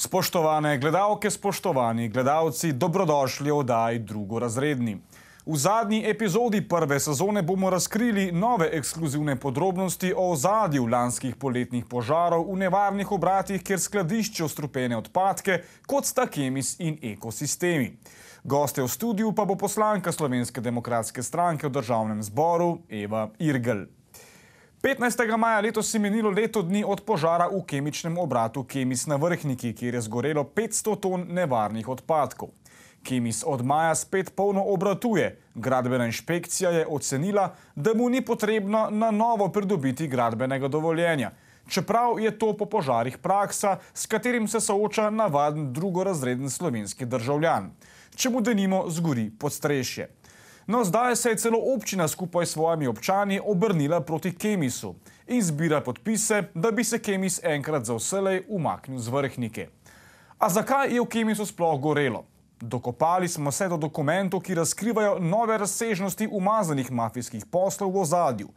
Spoštovane gledalke, spoštovani gledalci, dobrodošli v oddaji Drugorazredni. V zadnji epizodi prve sezone bomo razkrili nove ekskluzivne podrobnosti o ozadju lanskih poletnih požarov v nevarnih obratih, kjer skladiščijo strupene odpadke, kot sta Kemis in Ekosistemi. Goste v studiu pa bo poslanka Slovenske demokratske stranke v Državnem zboru Eva Irgl. 15. maja letos je minilo leto dni od požara v kemičnem obratu Kemis na Vrhniki, kjer je zgorelo 500 ton nevarnih odpadkov. Kemis od maja spet polno obratuje. Gradbena inšpekcija je ocenila, da mu ni potrebno na novo pridobiti gradbenega dovoljenja. Čeprav je to po požarih praksa, s katerim se sooča navaden drugorazreden slovenski državljan. Če mu denimo zgori podstrešje. No, zdaj se je celo občina skupaj s svojimi občani obrnila proti Kemisu in zbira podpise, da bi se Kemis enkrat za vselej umaknil z Vrhnike. A zakaj je v Kemisu sploh gorelo? Dokopali smo se do dokumentov, ki razkrivajo nove razsežnosti umazanih mafijskih poslov v ozadju.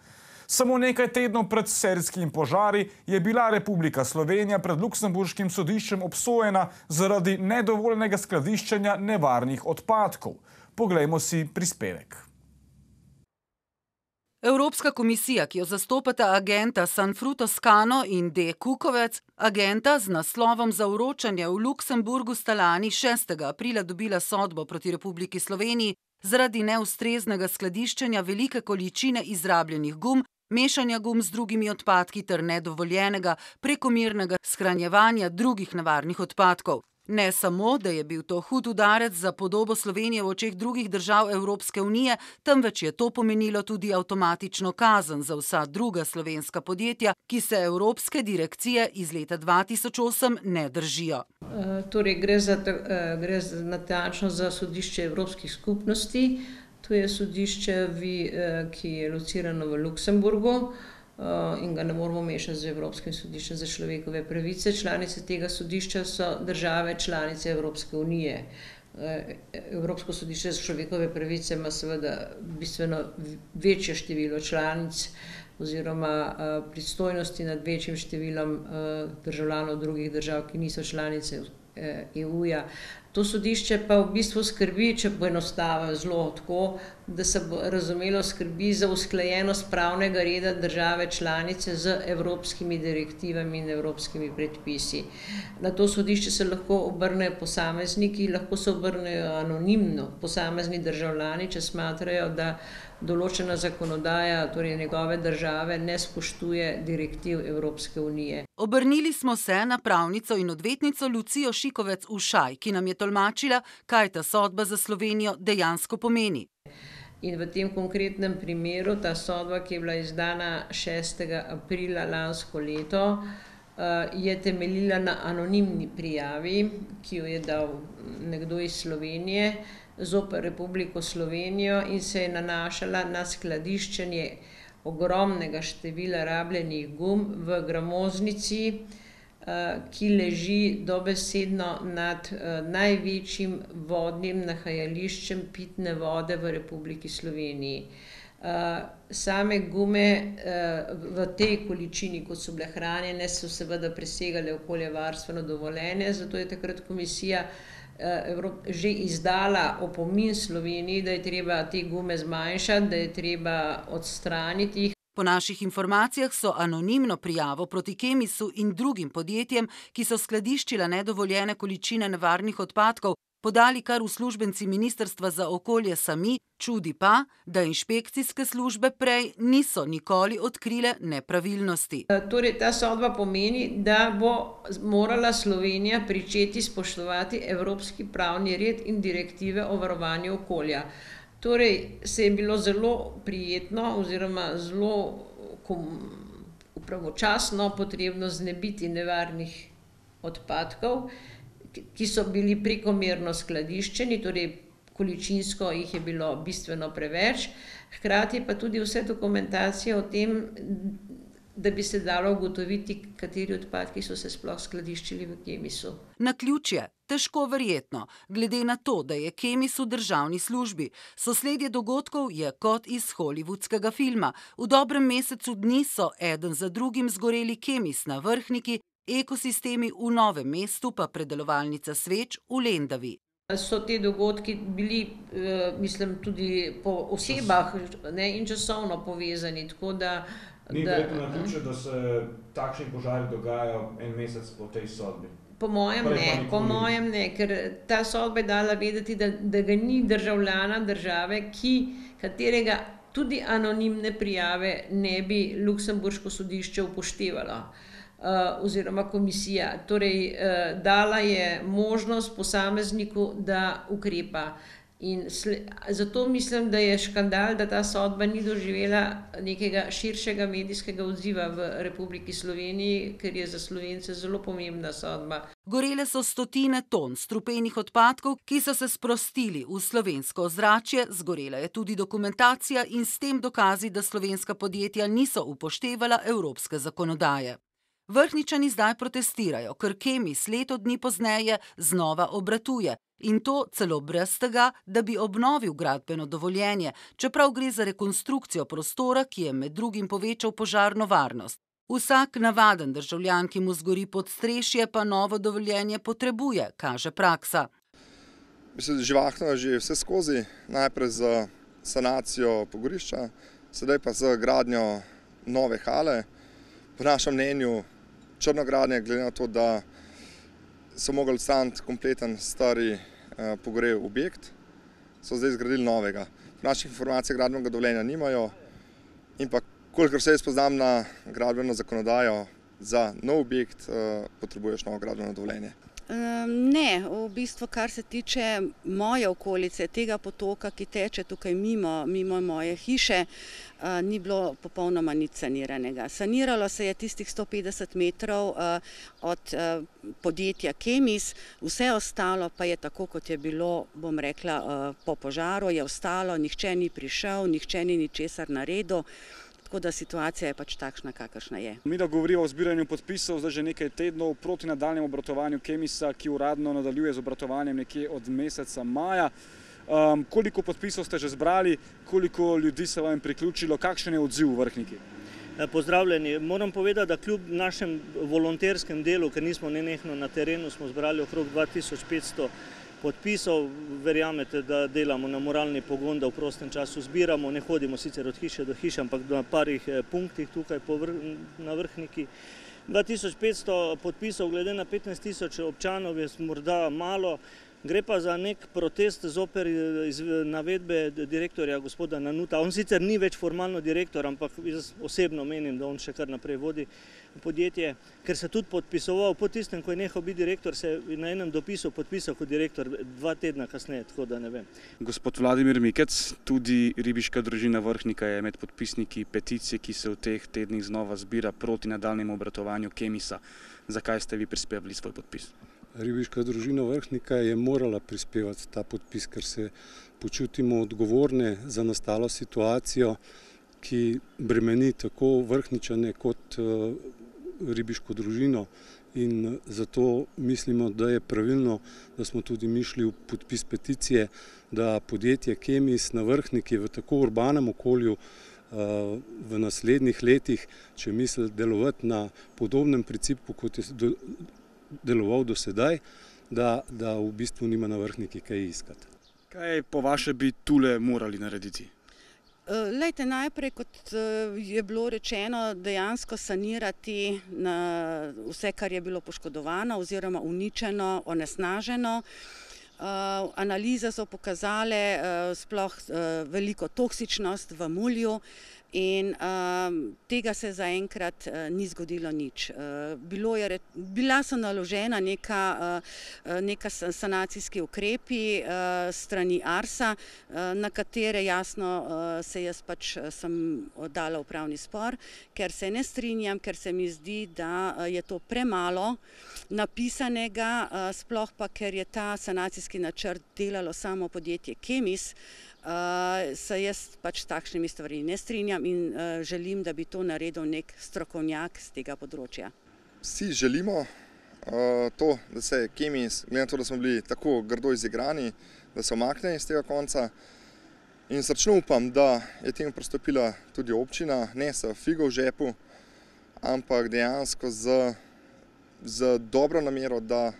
Samo nekaj tednov pred serijskimi požari je bila Republika Slovenija pred Luksemburškim sodiščem obsojena zaradi nedovoljenega skladiščenja nevarnih odpadkov. Poglejmo si prispevek. Evropska komisija, ki jo zastopata agenta Sanfru Toscano in D. Kukovec, agenta z naslovom za vročanje v Luksemburgu sta lani 6. aprila dobila sodbo proti Republiki Sloveniji zaradi neustreznega skladiščenja velike količine izrabljenih gum, mešanja gum z drugimi odpadki ter nedovoljenega prekomernega shranjevanja drugih nevarnih odpadkov. Ne samo, da je bil to hud udarec za podobo Slovenije v očeh drugih držav Evropske unije, temveč je to pomenilo tudi avtomatično kazen za vsa druga slovenska podjetja, ki se Evropske direkcije iz leta 2008 ne držijo. Torej, gre natančno za sodišče Evropskih skupnosti. To je sodišče, ki je locirano v Luksemburgu in ga ne moramo mešati z Evropskim sodiščem za človekove pravice. Članice tega sodišča so države članice Evropske unije. Evropsko sodišče za človekove pravice ima seveda bistveno večje število članic oziroma pristojnosti nad večjim številom državljanov drugih držav, ki niso članice EU-ja. To sodišče pa v bistvu skrbi, če poenostavim zelo tako, da se bo razumelo, skrbi za usklajenost pravnega reda države članice z evropskimi direktivami in evropskimi predpisi. Na to sodišče se lahko obrnejo posamezniki, lahko se obrnejo anonimno posamezni državljani, če smatrajo, da določena zakonodaja, torej njegove države, ne spoštuje direktiv Evropske unije. Obrnili smo se na pravnico in odvetnico Lucijo Šikovec-Ušaj, ki nam je tolmačila, kaj ta sodba za Slovenijo dejansko pomeni. In v tem konkretnem primeru ta sodba, ki je bila izdana 6. aprila lansko leto, je temeljila na anonimni prijavi, ki jo je dal nekdo iz Slovenije zoper Republiko Slovenijo in se je nanašala na skladiščenje ogromnega števila rabljenih gum v gramoznici, ki leži dobesedno nad največjim vodnim nahajališčem pitne vode v Republiki Sloveniji. Same gume v tej količini, kot so bile hranjene, so seveda presegale okoljevarstveno dovoljenje, zato je takrat komisija že izdala opomin Sloveniji, da je treba te gume zmanjšati, da je treba odstraniti jih. Po naših informacijah so anonimno prijavo proti Kemisu in drugim podjetjem, ki so skladiščila nedovoljene količine nevarnih odpadkov, podali kar uslužbenci Ministrstva za okolje sami, čudi pa, da inšpekcijske službe prej niso nikoli odkrile nepravilnosti. Torej, ta sodba pomeni, da bo morala Slovenija pričeti spoštovati evropski pravni red in direktive o varovanju okolja. Torej, se je bilo zelo prijetno oziroma zelo pravočasno potrebno znebiti nevarnih odpadkov, ki so bili prekomerno skladiščeni, torej količinsko jih je bilo bistveno preveč, hkrati pa tudi vse dokumentacije o tem, da bi se dalo ugotoviti, kateri odpadki so se sploh skladiščili v Kemisu. Naključje, težko verjetno, glede na to, da je Kemis v državni službi. Sosledje dogodkov je kot iz hollywoodskega filma. V dobrem mesecu dni so eden za drugim zgoreli Kemis na Vrhniki, ekosistemi v Novem mestu pa predelovalnica sveč v Lendavi. So te dogodki bili, mislim, tudi po osebah, ne, in časovno povezani, tako da... Ni verjetno naključje, da se takšni požari dogajajo en mesec po tej sodbi? Po mojem ne, ker ta sodba je dala vedeti, da ga ni državljana države, katerega tudi anonimne prijave ne bi luksemburško sodišče upoštevalo. Oziroma komisija. Torej, dala je možnost posamezniku, da ukrepa. In zato mislim, da je škandal, da ta sodba ni doživela nekega širšega medijskega odziva v Republiki Sloveniji, ker je za Slovence zelo pomembna sodba. Gorele so stotine ton strupenih odpadkov, ki so se sprostili v slovensko ozračje, zgorela je tudi dokumentacija in s tem dokazi, da slovenska podjetja niso upoštevala evropske zakonodaje. Vrhničani zdaj protestirajo, ker Kemis leto dni pozneje znova obratuje in to celo brez tega, da bi obnovil gradbeno dovoljenje, čeprav gre za rekonstrukcijo prostora, ki je med drugim povečal požarno varnost. Vsak navaden državljan, ki mu zgori podstrešje, pa novo dovoljenje potrebuje, kaže praksa. Živahno je že vse skozi, najprej za sanacijo pogorišča, sedaj pa za gradnjo nove hale. Po našem mnenju črnogradnje, glede na to, da so mogli odstraniti kompleten stari pogorel objekt, so zdaj zgradili novega. Po naših informacijah gradbenega dovoljenja nimajo in pa kolikor se jaz poznam na gradbeno zakonodajo, za nov objekt potrebuješ novo gradbeno dovoljenje. Ne, v bistvu, kar se tiče moje okolice, tega potoka, ki teče tukaj mimo moje hiše, ni bilo popolnoma nič saniranega. Saniralo se je tistih 150 metrov od podjetja Kemis, vse ostalo pa je tako, kot je bilo, bom rekla, po požaru je ostalo, nihče ni prišel, nihče ni ničesar naredil. Tako da situacija je pač takšna, kakršna je. Mi da govorijo o zbiranju podpisov zdaj že nekaj tednov proti nadaljnjemu obratovanju Kemisa, ki uradno nadaljuje z obratovanjem nekje od meseca maja. Koliko podpisov ste že zbrali, koliko ljudi se vam je priključilo, kakšen je odziv v Vrhniki? Pozdravljeni. Moram povedati, da kljub našem volonterskem delu, ker nismo nenehno na terenu, smo zbrali okrog 2500 podpisov. Verjamete, da delamo na moralni pogon, da v prostem času zbiramo, ne hodimo sicer od hiše do hiše, ampak na parih punktih tukaj na Vrhniki. 2500 podpisov glede na 15 000 občanov je morda malo. Gre pa za nek protest zoper navedbe direktorja gospoda Nanuta. On sicer ni več formalno direktor, ampak jaz osebno menim, da on še kar naprej vodi podjetje, ker se tudi podpisoval po tistem, ko je nehal biti direktor, se je na enem dopisu podpisal kot direktor 2 tedna kasneje, tako da ne vem. Gospod Vladimir Mikec, tudi ribiška družina Vrhnika je med podpisniki peticije, ki se v teh tednih znova zbira proti nadaljnjemu obratovanju Kemisa. Zakaj ste vi prispevali svoj podpis? Ribiška družina Vrhnika je morala prispevati ta podpis, ker se počutimo odgovorne za nastalo situacijo, ki bremeni tako Vrhničane kot ribiško družino. In zato mislimo, da je pravilno, da smo tudi mi šli v podpis peticije, da podjetje Kemis na Vrhniki v tako urbanem okolju v naslednjih letih, če misli delovati na podobnem principu, kot je deloval do sedaj, da v bistvu nima na Vrhniki kaj iskati. Kaj po vaše bi tule morali narediti? Lejte, najprej, kot je bilo rečeno, dejansko sanirati vse, kar je bilo poškodovano oziroma uničeno, onesnaženo. Analize so pokazale sploh veliko toksičnost v mulju in tega se zaenkrat ni zgodilo nič. Bila so naložena neka sanacijski ukrepi strani Arsa, na katere jasno se jaz pač sem dala upravni spor, ker se ne strinjam, ker se mi zdi, da je to premalo napisanega, sploh pa, ker je ta sanacijski načrt delalo samo podjetje Kemis, se jaz pač s takšnimi stvarmi ne strinjam in želim, da bi to naredil nek strokovnjak z tega področja. Vsi želimo to, da se Kemis, glede na to, da smo bili tako grdo izigrani, da se omakne iz tega konca. In srčno upam, da je temu pristopila tudi občina, ne s figo v žepu, ampak dejansko z z dobro namero, da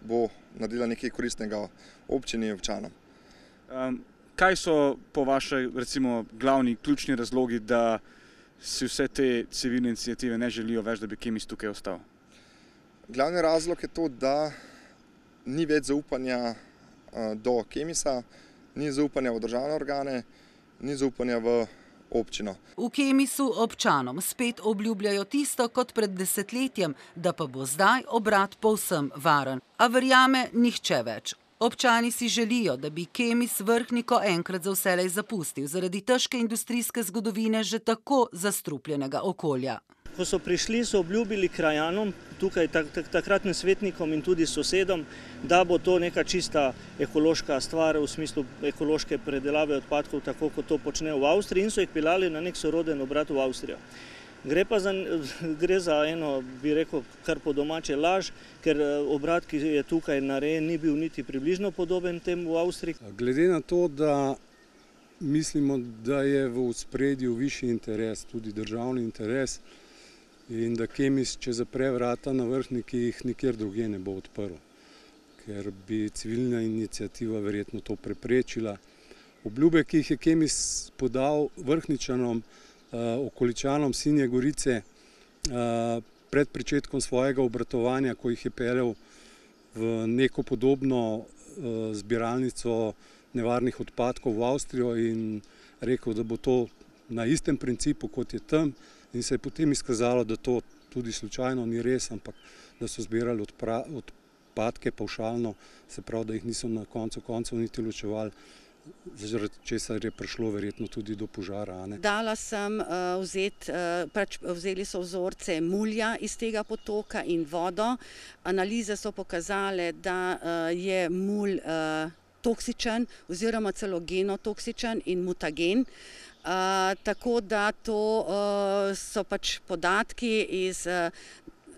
bo naredila nekaj koristnega občini in občanom. Kaj so po vaše, recimo, glavni, ključni razlogi, da si vse te civilne iniciative ne želijo več, da bi Kemis tukaj ostal? Glavni razlog je to, da ni več zaupanja do Kemisa, ni zaupanja v državne organe, ni zaupanja v občino. V Kemisu občanom spet obljubljajo tisto kot pred desetletjem, da pa bo zdaj obrat povsem varen. A verjame nihče več. Občani si želijo, da bi Kemis Vrhniko enkrat za vselej zapustil zaradi težke industrijske zgodovine že tako zastrupljenega okolja. Ko so prišli, so obljubili krajanom, tukaj takratnim svetnikom in tudi sosedom, da bo to neka čista ekološka stvar v smislu ekološke predelave odpadkov, tako kot to počne v Avstriji, in so jih peljali na nek soroden obrat v Avstrijo. Gre za eno, bi rekel, kar po domače laž, ker obrat, ki je tukaj narejen, ni bil niti približno podoben temu v Avstriji. Glede na to, da mislimo, da je v ospredju višji interes, tudi državni interes, in da Kemis, če zapre vrata na Vrhniki, jih nikjer drugje ne bo odprl, ker bi civilna iniciativa verjetno to preprečila. Obljube, ki jih je Kemis podal Vrhničanom, okoličanom Sinje Gorice pred pričetkom svojega obratovanja, ko jih je peljal v neko podobno zbiralnico nevarnih odpadkov v Avstrijo in rekel, da bo to na istem principu, kot je tam, in se je potem izkazalo, da to tudi slučajno ni res, ampak da so zbirali odpadke pavšalno, se pravi, da jih niso na koncu koncev niti ločevali, zaradi česar je prišlo verjetno tudi do požara. Dala sem vzeli so vzorce mulja iz tega potoka in vodo. Analize so pokazale, da je mulj toksičen oziroma celo genotoksičen in mutagen. Tako da to so pač podatki iz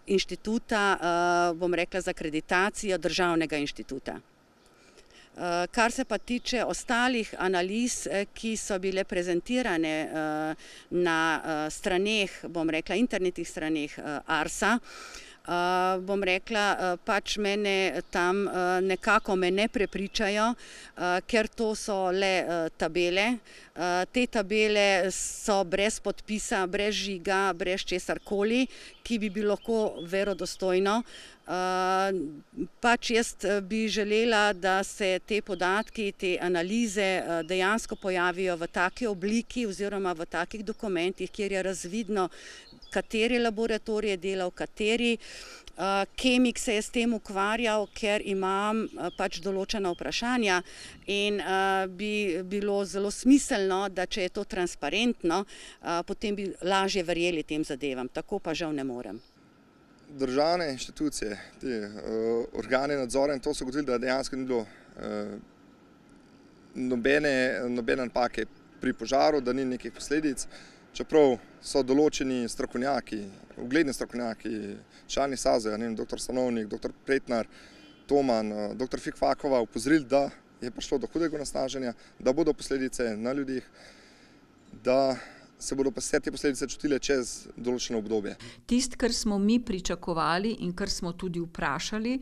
inštituta, bom rekla, za akreditacijo državnega inštituta. Kar se pa tiče ostalih analiz, ki so bile prezentirane na straneh, bom rekla, internetnih straneh Arsa, bom rekla, pač mene tam nekako me ne prepričajo, ker to so le tabele. Te tabele so brez podpisa, brez žiga, brez česarkoli, ki bi bilo lahko verodostojno. Pač jaz bi želela, da se te podatki, te analize dejansko pojavijo v taki obliki oziroma v takih dokumentih, kjer je razvidno, kateri laboratorij je delal, kateri kemik se je s tem ukvarjal, ker imam pač določena vprašanja in bi bilo zelo smiselno, da če je to transparentno, potem bi lažje verjeli tem zadevam, tako pa žal ne morem. Državne inštitucije, te organe nadzora in to so ugotovili, da dejansko ni bilo nobene napake pri požaru, da ni nekih posledic, čeprav so določeni strokovnjaki, ugledni strokovnjaki, člani SAZE, dr. Stanovnik, dr. Pretnar, Toman, dr. Fikfakova upozorili, da je prišlo do hudega onesnaženja, da bodo posledice na ljudeh, da se bodo pa vse te posledice čutile čez določeno obdobje. Tisto, kar smo mi pričakovali in kar smo tudi vprašali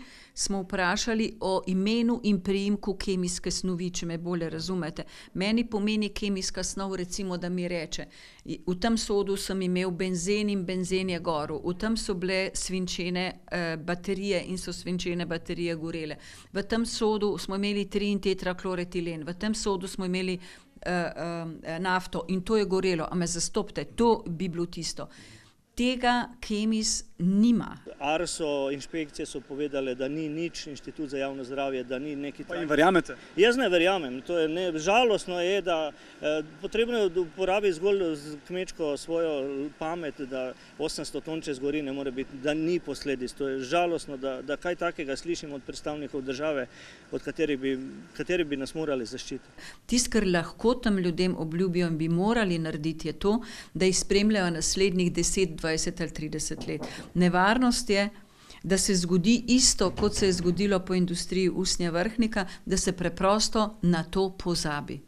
o imenu in priimku kemijske snovi, če me bolje razumete. Meni pomeni kemijska snov, recimo, da mi reče, v tem sodu sem imel benzen in benzen je gorel, v tem so bile svinčene baterije in so svinčene baterije gorele. V tem sodu smo imeli 3-tetrakloretilen, v tem sodu smo imeli nafto in to je gorelo, a me zastopite, to bi bilo tisto. Tega Kemis nima. Arso, inšpekcije so povedale, da ni nič, Inštitut za javno zdravje, da ni neki... Pa jim verjamete? Jaz ne verjamem. Žalostno je, da potrebno je uporabiti zgolj kmečko svojo pamet, da 800 ton čez gori ne more biti, da ni posledic. To je žalostno, da kaj takega slišimo od predstavnikov države, od katerih bi nas morali zaščititi. Tisto, kar lahko tam ljudem obljubijo in bi morali narediti, je to, da jih spremljajo naslednjih 10, 20 ali 30 let. Nevarnost je, da se zgodi isto, kot se je zgodilo po industriji usnja Vrhnika, da se preprosto na to pozabi.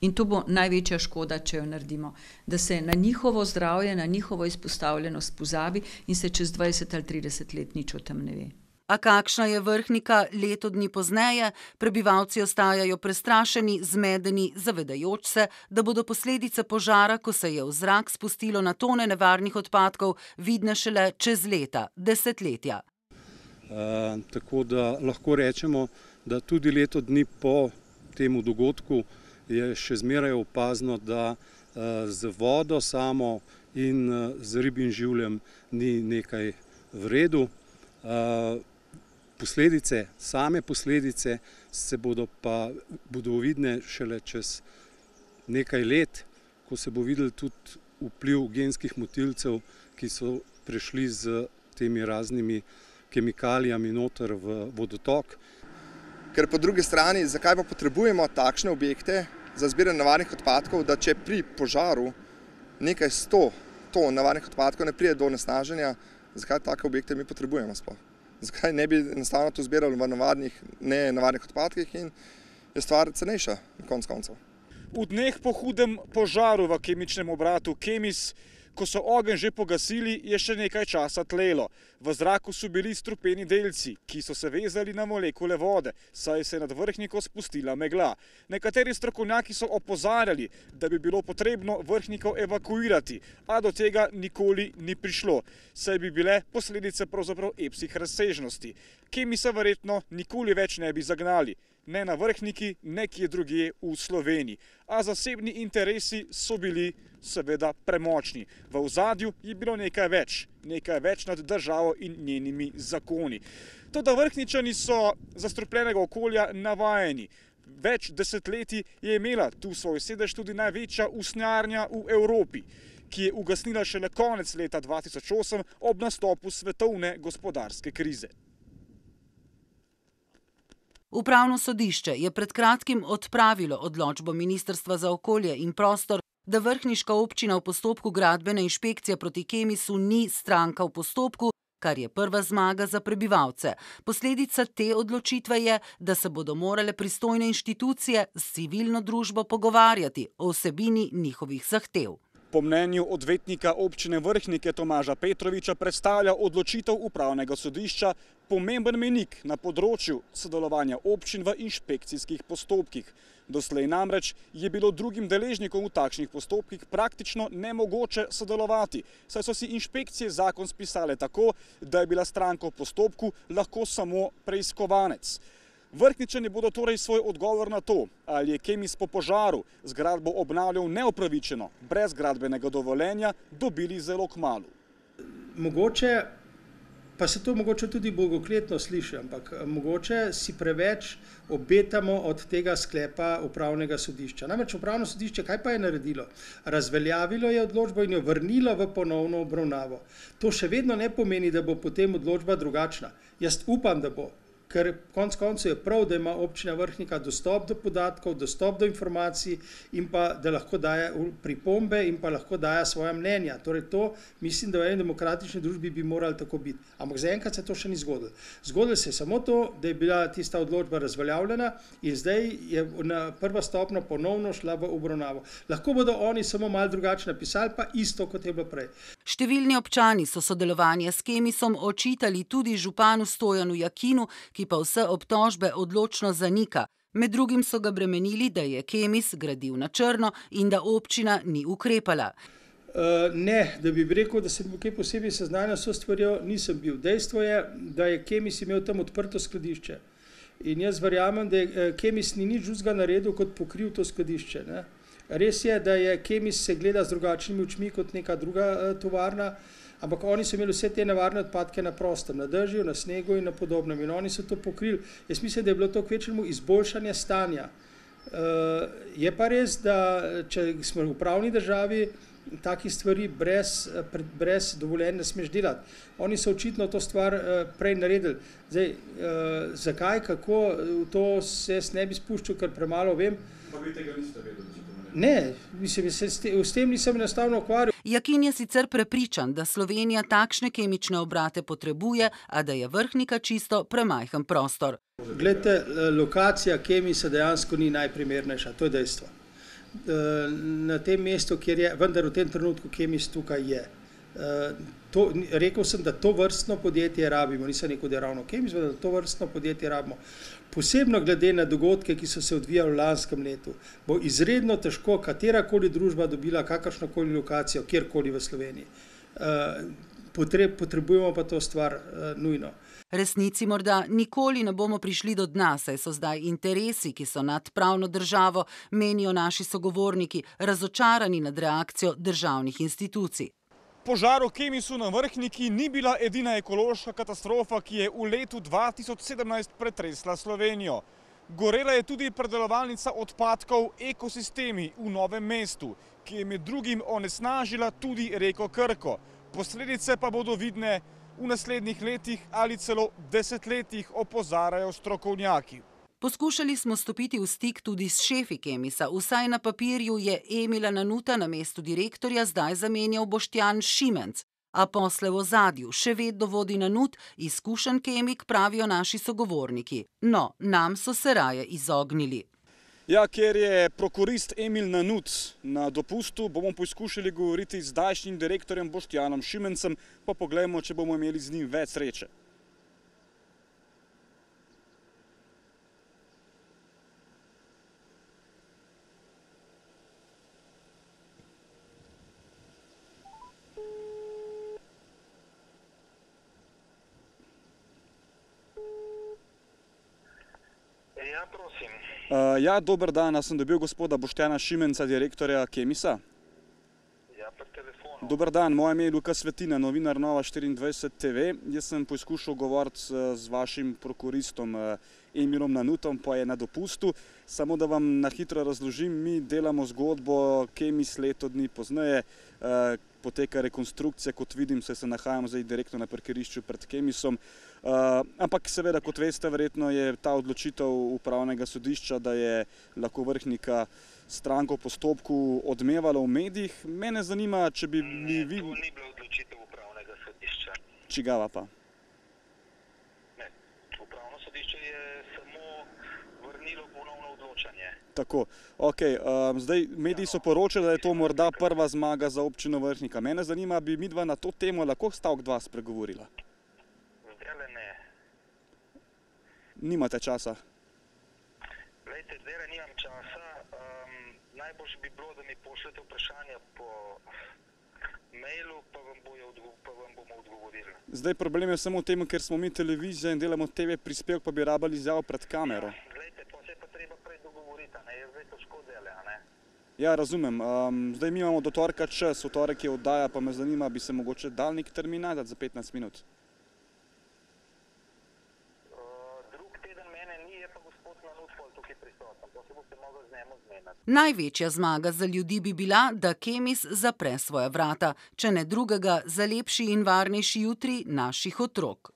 In to bo največja škoda, če jo naredimo. Da se na njihovo zdravje, na njihovo izpostavljenost pozabi in se čez 20 ali 30 let nič o tem ne ve. A kakšna je Vrhnika leto dni pozneje, prebivalci ostajajo prestrašeni, zmedeni, zavedajoč se, da bodo posledice požara, ko se je v zrak spustilo na tone nevarnih odpadkov, vidne šele čez leta, desetletja. Tako da lahko rečemo, da tudi leto dni po temu dogodku je še zmeraj opazno, da z vodo samo in z ribjim življem ni nekaj v redu. Same posledice se bodo vidne šele čez nekaj let, ko se bo videl tudi vpliv genskih motilcev, ki so prišli z temi raznimi kemikalijami noter v vodotok. Ker po drugi strani, zakaj pa potrebujemo takšne objekte za zbiranje nevarnih odpadkov, da če pri požaru nekaj 100 ton nevarnih odpadkov ne pride do onesnaženja, zakaj take objekte mi potrebujemo sploh? Zakaj ne bi enostavno to zbirali v nenevarnih odpadkih in je stvar cenejša na koncu koncev. V dneh po hudem požaru v kemičnem obratu Kemis, ko so ogenj že pogasili, je še nekaj časa tlelo. V zraku so bili strupeni delci, ki so se vezali na molekule vode, saj se je nad Vrhniko spustila megla. Nekateri strokovnjaki so opozarjali, da bi bilo potrebno Vrhniko evakuirati, a do tega nikoli ni prišlo, saj bi bile posledice pravzaprav epskih razsežnosti. Kemisa verjetno nikoli več ne bi zagnali. Ne na Vrhniki, ne kje drugje v Sloveniji. A zasebni interesi so bili seveda premočni. V ozadju je bilo nekaj več nad državo in njenimi zakoni. Toda Vrhničani so zastrupljenega okolja navajeni. Več desetletij je imela tu svoj sedež tudi največja usnjarna v Evropi, ki je ugasnila šele konec leta 2008 ob nastopu svetovne gospodarske krize. Upravno sodišče je pred kratkim odpravilo odločbo Ministrstva za okolje in prostor, da vrhniška občina v postopku gradbene inšpekcije proti Kemisu ni stranka v postopku, kar je prva zmaga za prebivalce. Posledica te odločitve je, da se bodo morale pristojne inštitucije s civilno družbo pogovarjati o vsebini njihovih zahtev. Po mnenju odvetnika občine Vrhnike Tomaža Petroviča predstavlja odločitev upravnega sodišča pomemben mejnik na področju sodelovanja občin v inšpekcijskih postopkih. Doslej namreč je bilo drugim deležnikom v takšnih postopkih praktično nemogoče sodelovati, saj so si inšpekcije zakon spisale tako, da je bila stranka v postopku lahko samo preiskovanec. Vrhničani bodo torej svoj odgovor na to, ali je Kemis po požaru zgradbo obnavljal neopravičeno, brez gradbenega dovoljenja, dobili zelo kmalu. Mogoče, pa se to mogoče tudi bogokletno sliši, ampak mogoče si preveč obetamo od tega sklepa upravnega sodišča. Namreč upravno sodišče, kaj pa je naredilo? Razveljavilo je odločbo in jo vrnilo v ponovno obravnavo. To še vedno ne pomeni, da bo potem odločba drugačna. Jaz upam, da bo. Ker konec koncev je prav, da ima občina Vrhnika dostop do podatkov, dostop do informacij in pa da lahko daje pripombe in pa lahko daje svoja mnenja. Torej to mislim, da v eni demokratični družbi bi morali tako biti. Ampak zaenkrat se to še ni zgodilo. Zgodilo se je samo to, da je bila tista odločba razveljavljena in zdaj je na prva stopnja ponovno šla v obravnavo. Lahko bodo oni samo malo drugače napisali, pa isto, kot je bilo prej. Številni občani so sodelovanje s Kemisom očitali tudi županu Stojanu Jakinu, ki pa vse obtožbe odločno zanika. Med drugim so ga bremenili, da je Kemis gradil na črno in da občina ni ukrepala. Ne, da bi rekel, da sem kaj posebej seznanjen s to stvarjo, nisem bil. Dejstvo je, da je Kemis imel tam odprto skladišče. In jaz verjamem, da Kemis ni nič drugega naredil, kot pokril to skladišče. Ne? Res je, da je Kemis se gleda z drugačnimi očmi kot neka druga tovarna, ampak oni so imeli vse te nevarne odpadke na prostem, na dežju, na snegu in na podobnem. In oni so to pokrili. Jaz mislim, da je bilo to kvečjemu izboljšanje stanja. Je pa res, da če smo v pravni državi, takih stvari brez dovoljenja ne smeš delati. Oni so očitno to stvar prej naredili. Zdaj, zakaj, kako, to se jaz ne bi spuščal, ker premalo vem. Pa vi tega niste vedeli? Ne, mislim, s tem nisem enostavno ukvarjal. Jakin je sicer prepričan, da Slovenija takšne kemične obrate potrebuje, a da je Vrhnika čisto premajhen prostor. Glejte, lokacija Kemisa dejansko ni najprimernejša, to je dejstvo. na tem mestu, kjer je, vendar v tem trenutku Kemis tukaj je. Rekel sem, da to vrstno podjetje rabimo, nisem rekel, da je ravno Kemis, da to vrstno podjetje rabimo. Posebno glede na dogodke, ki so se odvijali v lanskem letu, bo izredno težko katerakoli družba dobila kakršnokoli lokacijo, kjerkoli v Sloveniji. Potrebujemo pa to stvar nujno. Resnici morda nikoli ne bomo prišli do dna, saj so zdaj interesi, ki so nad pravno državo, menijo naši sogovorniki, razočarani nad reakcijo državnih institucij. Požar v Kemisu na Vrhniki ni bila edina ekološka katastrofa, ki je v letu 2017 pretresla Slovenijo. Gorela je tudi predelovalnica odpadkov Ekosistemi v Novem mestu, ki je med drugim onesnažila tudi reko Krko. Posledice pa bodo vidne v naslednjih letih ali celo desetletjih, opozarjajo strokovnjaki. Poskušali smo stopiti v stik tudi s šefi Kemisa. Vsaj na papirju je Emila Nanuta na mestu direktorja zdaj zamenjal Boštjan Šimenc. A posle v ozadju še vedno vodi Nanut, izkušen kemik, pravijo naši sogovorniki. No, nam so se raje izognili. Ja, ker je prokurist Emil Nanut na dopustu, bomo poskušali govoriti z zdajšnjim direktorjem Boštjanom Šimencem, pa poglejmo, če bomo imeli z njim več sreče. Ja, prosim. Ja, dober dan, sem dobil gospoda Boštjana Šimenca, direktorja Kemisa. Ja, po telefonu. Dober dan, moje ime je Luka Svetina, novinar Nova 24 TV. Jaz sem poskušal govoriti z vašim prokuristom Emilom Nanutom, pa je na dopustu. Samo da vam na hitro razložim, mi delamo zgodbo Kemis leto dni pozneje. Poteka rekonstrukcija, kot vidim, se nahajam zdaj direktno na parkirišču pred Kemisom. Ampak seveda, kot veste, verjetno je ta odločitev upravnega sodišča, da je lahko Vrhnika stranko v postopku odmevala v medijih. Mene zanima, če bi mi vi... Ne, to ni bila odločitev upravnega sodišča. Čigava pa? Ne, upravno sodišče je samo vrnilo ponovno odločanje. Tako, ok. Zdaj mediji so poročali, da je to morda prva zmaga za občino Vrhnika. Mene zanima, bi midva na to temo lahko stavek dva spregovorila? Zdajle ne. Nimate časa? Glejte, zdajle nimam časa. Najboljše bi bilo, da mi pošljete vprašanja po mailu, pa vam bomo odgovorili. Zdaj problem je samo v tem, ker smo mi televizija in delamo TV prispevek, pa bi rabili izjavo pred kamero. Glejte, to se pa treba prej dogovoriti, a ne? Jaz zdaj težko dele, a ne? Ja, razumem. Zdaj mi imamo do torka čas, v torek je oddaja, pa me zanima, bi se mogoče dal nek termin dati za 15 minut. Drug teden mene ni, je pa gospod Nanut tukaj prisoten. To se boste mogli z njemu zmeniti. Največja zmaga za ljudi bi bila, da Kemis zapre svoja vrata, če ne drugega za lepši in varnejši jutri naših otrok.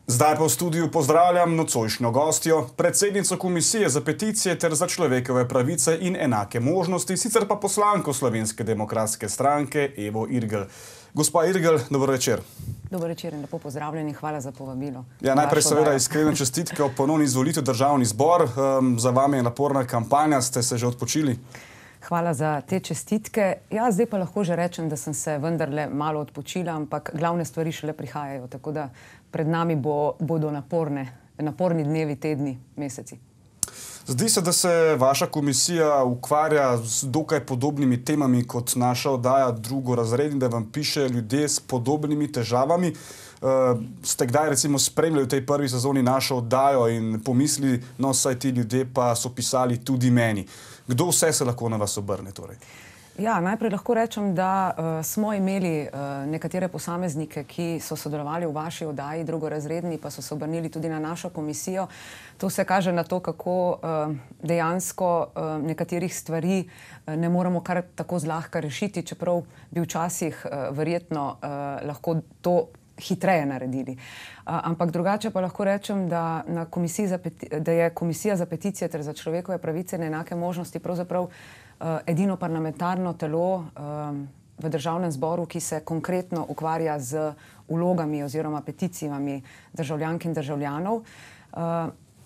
Zdaj pa v studiu pozdravljam nocojšnjo gostjo, predsednico Komisije za peticije ter za človekove pravice in enake možnosti, sicer pa poslanko Slovenske demokratske stranke Evo Irgl. Gospa Irgl, dober večer. Dober večer in lepo pozdravljeni, hvala za povabilo. Ja, najprej seveda iskrene čestitke ob ponovni izvolitvi v državni zbor. Za vami je naporna kampanja, ste se že odpočili? Hvala za te čestitke. Ja, zdaj pa lahko že rečem, da sem se vendarle malo odpočila, ampak glavne stvari šele prihajajo, tako da pred nami bodo naporni dnevi, tedni, meseci. Zdi se, da se vaša komisija ukvarja z dokaj podobnimi temami kot naša oddaja Drugorazredni, da vam piše ljudje s podobnimi težavami. Ste kdaj recimo spremljali v tej prvi sezoni našo oddajo in pomislili, no saj ti ljudje pa so pisali tudi meni. Kdo vse se lahko na vas obrne torej? Ja, najprej lahko rečem, da smo imeli nekatere posameznike, ki so sodelovali v vaši oddaji Drugorazredni, pa so se obrnili tudi na našo komisijo. To se kaže na to, kako dejansko nekaterih stvari ne moremo kar tako zlahka rešiti, čeprav bi včasih verjetno lahko to hitreje naredili. Ampak drugače pa lahko rečem, da je Komisija za peticije ter za človekove pravice in enake možnosti pravzaprav edino parlamentarno telo v državnem zboru, ki se konkretno ukvarja z vlogami oziroma peticijami državljank in državljanov.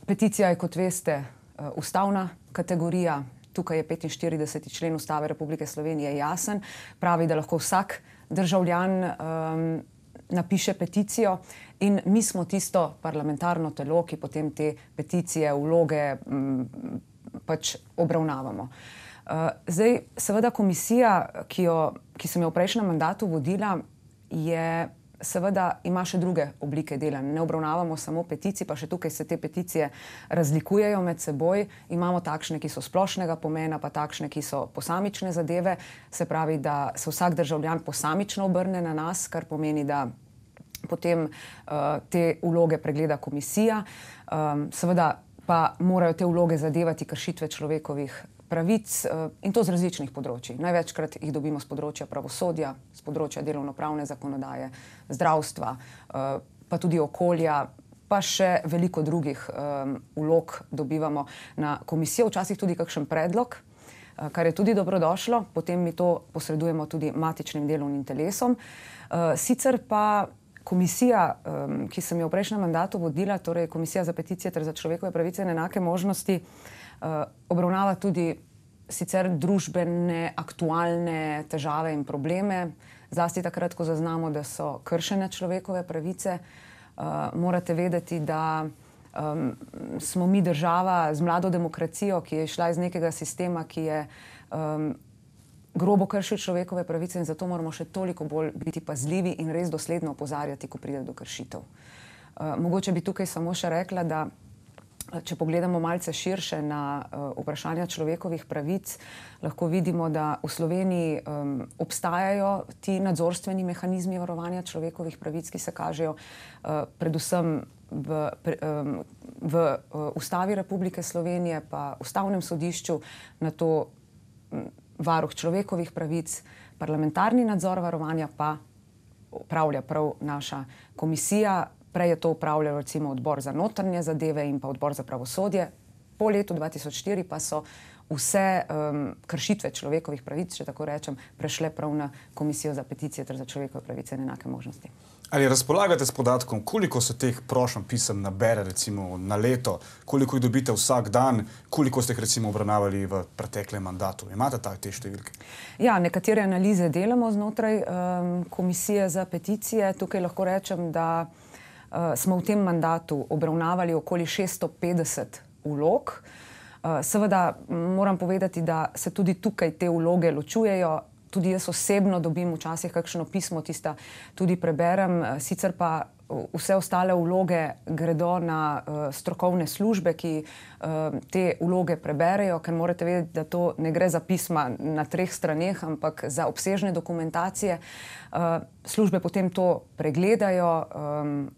Peticija je, kot veste, ustavna kategorija, tukaj je 45. člen Ustave Republike Slovenije jasen, pravi, da lahko vsak državljan napiše peticijo in mi smo tisto parlamentarno telo, ki potem te peticije, vloge pač obravnavamo. Zdaj, seveda komisija, ki sem jo v prejšnjem mandatu vodila, seveda ima še druge oblike dela. Ne obravnavamo samo peticij, pa še tukaj se te peticije razlikujejo med seboj. Imamo takšne, ki so splošnega pomena, pa takšne, ki so posamične zadeve. Se pravi, da se vsak državljan posamično obrne na nas, kar pomeni, da potem te vloge pregleda komisija. Seveda pa morajo te vloge zadevati kršitve človekovih pravic in to z različnih področji. Največkrat jih dobimo z področja pravosodja, z področja delovnopravne zakonodaje, zdravstva, pa tudi okolja, pa še veliko drugih vlog dobivamo na komisijo, včasih tudi kakšen predlog, kar je tudi dobrodošlo, potem mi to posredujemo tudi matičnim delovnim telesom. Sicer pa komisija, ki sem jo v prejšnjem mandatu vodila, torej Komisija za peticije ter za človekove pravice in enake možnosti, obravnava tudi sicer družbene, aktualne težave in probleme, zlasti takrat, ko zaznamo, da so kršene človekove pravice. Morate vedeti, da smo mi država z mlado demokracijo, ki je šla iz nekega sistema, ki je grobo kršil človekove pravice in zato moramo še toliko bolj biti pazljivi in res dosledno opozarjati, ko pride do kršitev. Mogoče bi tukaj samo še rekla, da če pogledamo malce širše na vprašanja človekovih pravic, lahko vidimo, da v Sloveniji obstajajo ti nadzorstveni mehanizmi varovanja človekovih pravic, ki se kažejo predvsem v Ustavi Republike Slovenije, pa Ustavnem sodišču, na to varuh človekovih pravic, parlamentarni nadzor varovanja pa upravlja prav naša komisija. Prej je to upravljal recimo odbor za notranje zadeve in pa odbor za pravosodje. Po letu 2004 pa so vse kršitve človekovih pravic, če tako rečem, prešle prav na Komisijo za peticije ter za človekove pravice in enake možnosti. Ali razpolagate s podatkom, koliko se teh prošenj pisem nabere recimo na leto, koliko jih dobite vsak dan, koliko ste jih recimo obravnavali v preteklem mandatu? Imate te številke? Ja, nekatere analize delamo znotraj Komisije za peticije. Tukaj lahko rečem, da smo v tem mandatu obravnavali okoli 650 vlog. Seveda moram povedati, da se tudi tukaj te vloge ločujejo. Tudi jaz osebno dobim včasih kakšno pismo, tista tudi preberem, sicer pa vse ostale vloge gredo na strokovne službe, ki te vloge preberejo, ker morate vedeti, da to ne gre za pisma na 3 straneh, ampak za obsežne dokumentacije. Službe potem to pregledajo,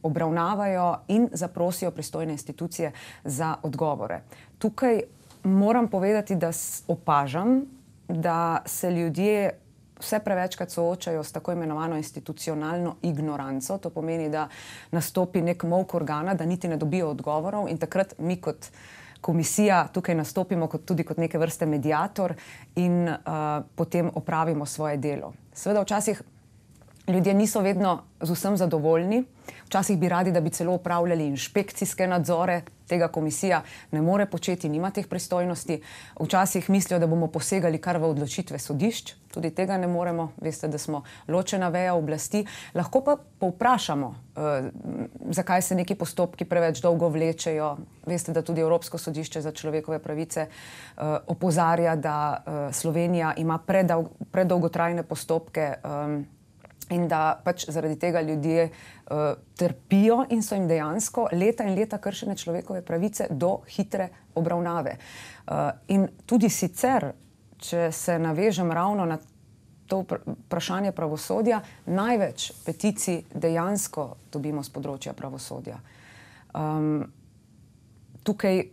obravnavajo in zaprosijo pristojne institucije za odgovore. Tukaj moram povedati, da opažam, da se ljudje vse prevečkrat soočajo s tako imenovano institucionalno ignoranco. To pomeni, da nastopi nek molk organa, da niti ne dobijo odgovorov in takrat mi kot komisija tukaj nastopimo tudi kot neke vrste mediator in potem opravimo svoje delo. Seveda včasih ljudje niso vedno z vsem zadovoljni, včasih bi radi, da bi celo upravljali inšpekcijske nadzore, tega komisija ne more početi, nima teh pristojnosti. Včasih mislijo, da bomo posegali kar v odločitve sodišč, tudi tega ne moremo, veste, da smo ločena veja oblasti. Lahko pa povprašamo, zakaj se neki postopki preveč dolgo vlečejo. Veste, da tudi Evropsko sodišče za človekove pravice opozarja, da Slovenija ima predolgotrajne postopke in da pač zaradi tega ljudje trpijo in so jim dejansko leta in leta kršene človekove pravice do hitre obravnave. In tudi sicer, če se navežem ravno na to vprašanje pravosodja, največ peticij dejansko dobimo z področja pravosodja. Tukaj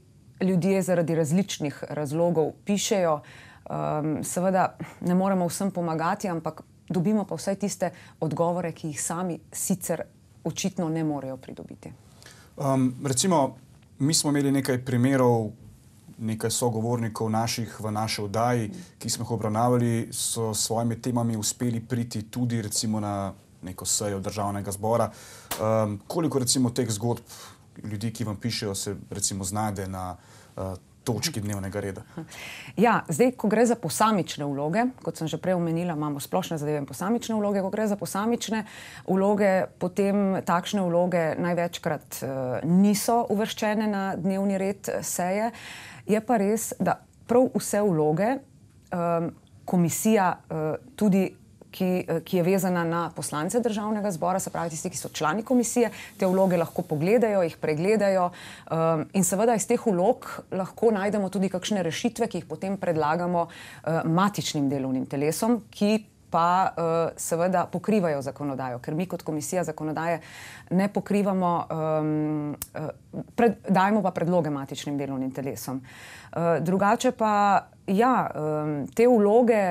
ljudje zaradi različnih razlogov pišejo, seveda ne moremo vsem pomagati, ampak dobimo pa vsaj tiste odgovore, ki jih sami sicer očitno ne morejo pridobiti. Recimo, mi smo imeli nekaj primerov, nekaj sogovornikov naših v naši oddaji, ki smo jih obravnavali, so s svojimi temami uspeli priti tudi recimo na neko sejo Državnega zbora. Koliko recimo teh zgodb ljudi, ki vam pišejo, se recimo znajde na točki dnevnega reda. Ja, zdaj, ko gre za posamične vloge, kot sem že prej omenila, imamo splošne zadeve in posamične vloge, ko gre za posamične vloge, potem takšne vloge največkrat niso uvrščene na dnevni red seje. Je pa res, da prav vse vloge komisija tudi ki je vezana na poslance državnega zbora, se pravi tisti, ki so člani komisije, te vloge lahko pogledajo, jih pregledajo in seveda iz teh vlog lahko najdemo tudi kakšne rešitve, ki jih potem predlagamo matičnim delovnim telesom, ki pa seveda pokrivajo zakonodajo, ker mi kot komisija zakonodaje ne pokrivamo, dajemo pa predloge matičnim delovnim telesom. Drugače pa, ja, te vloge,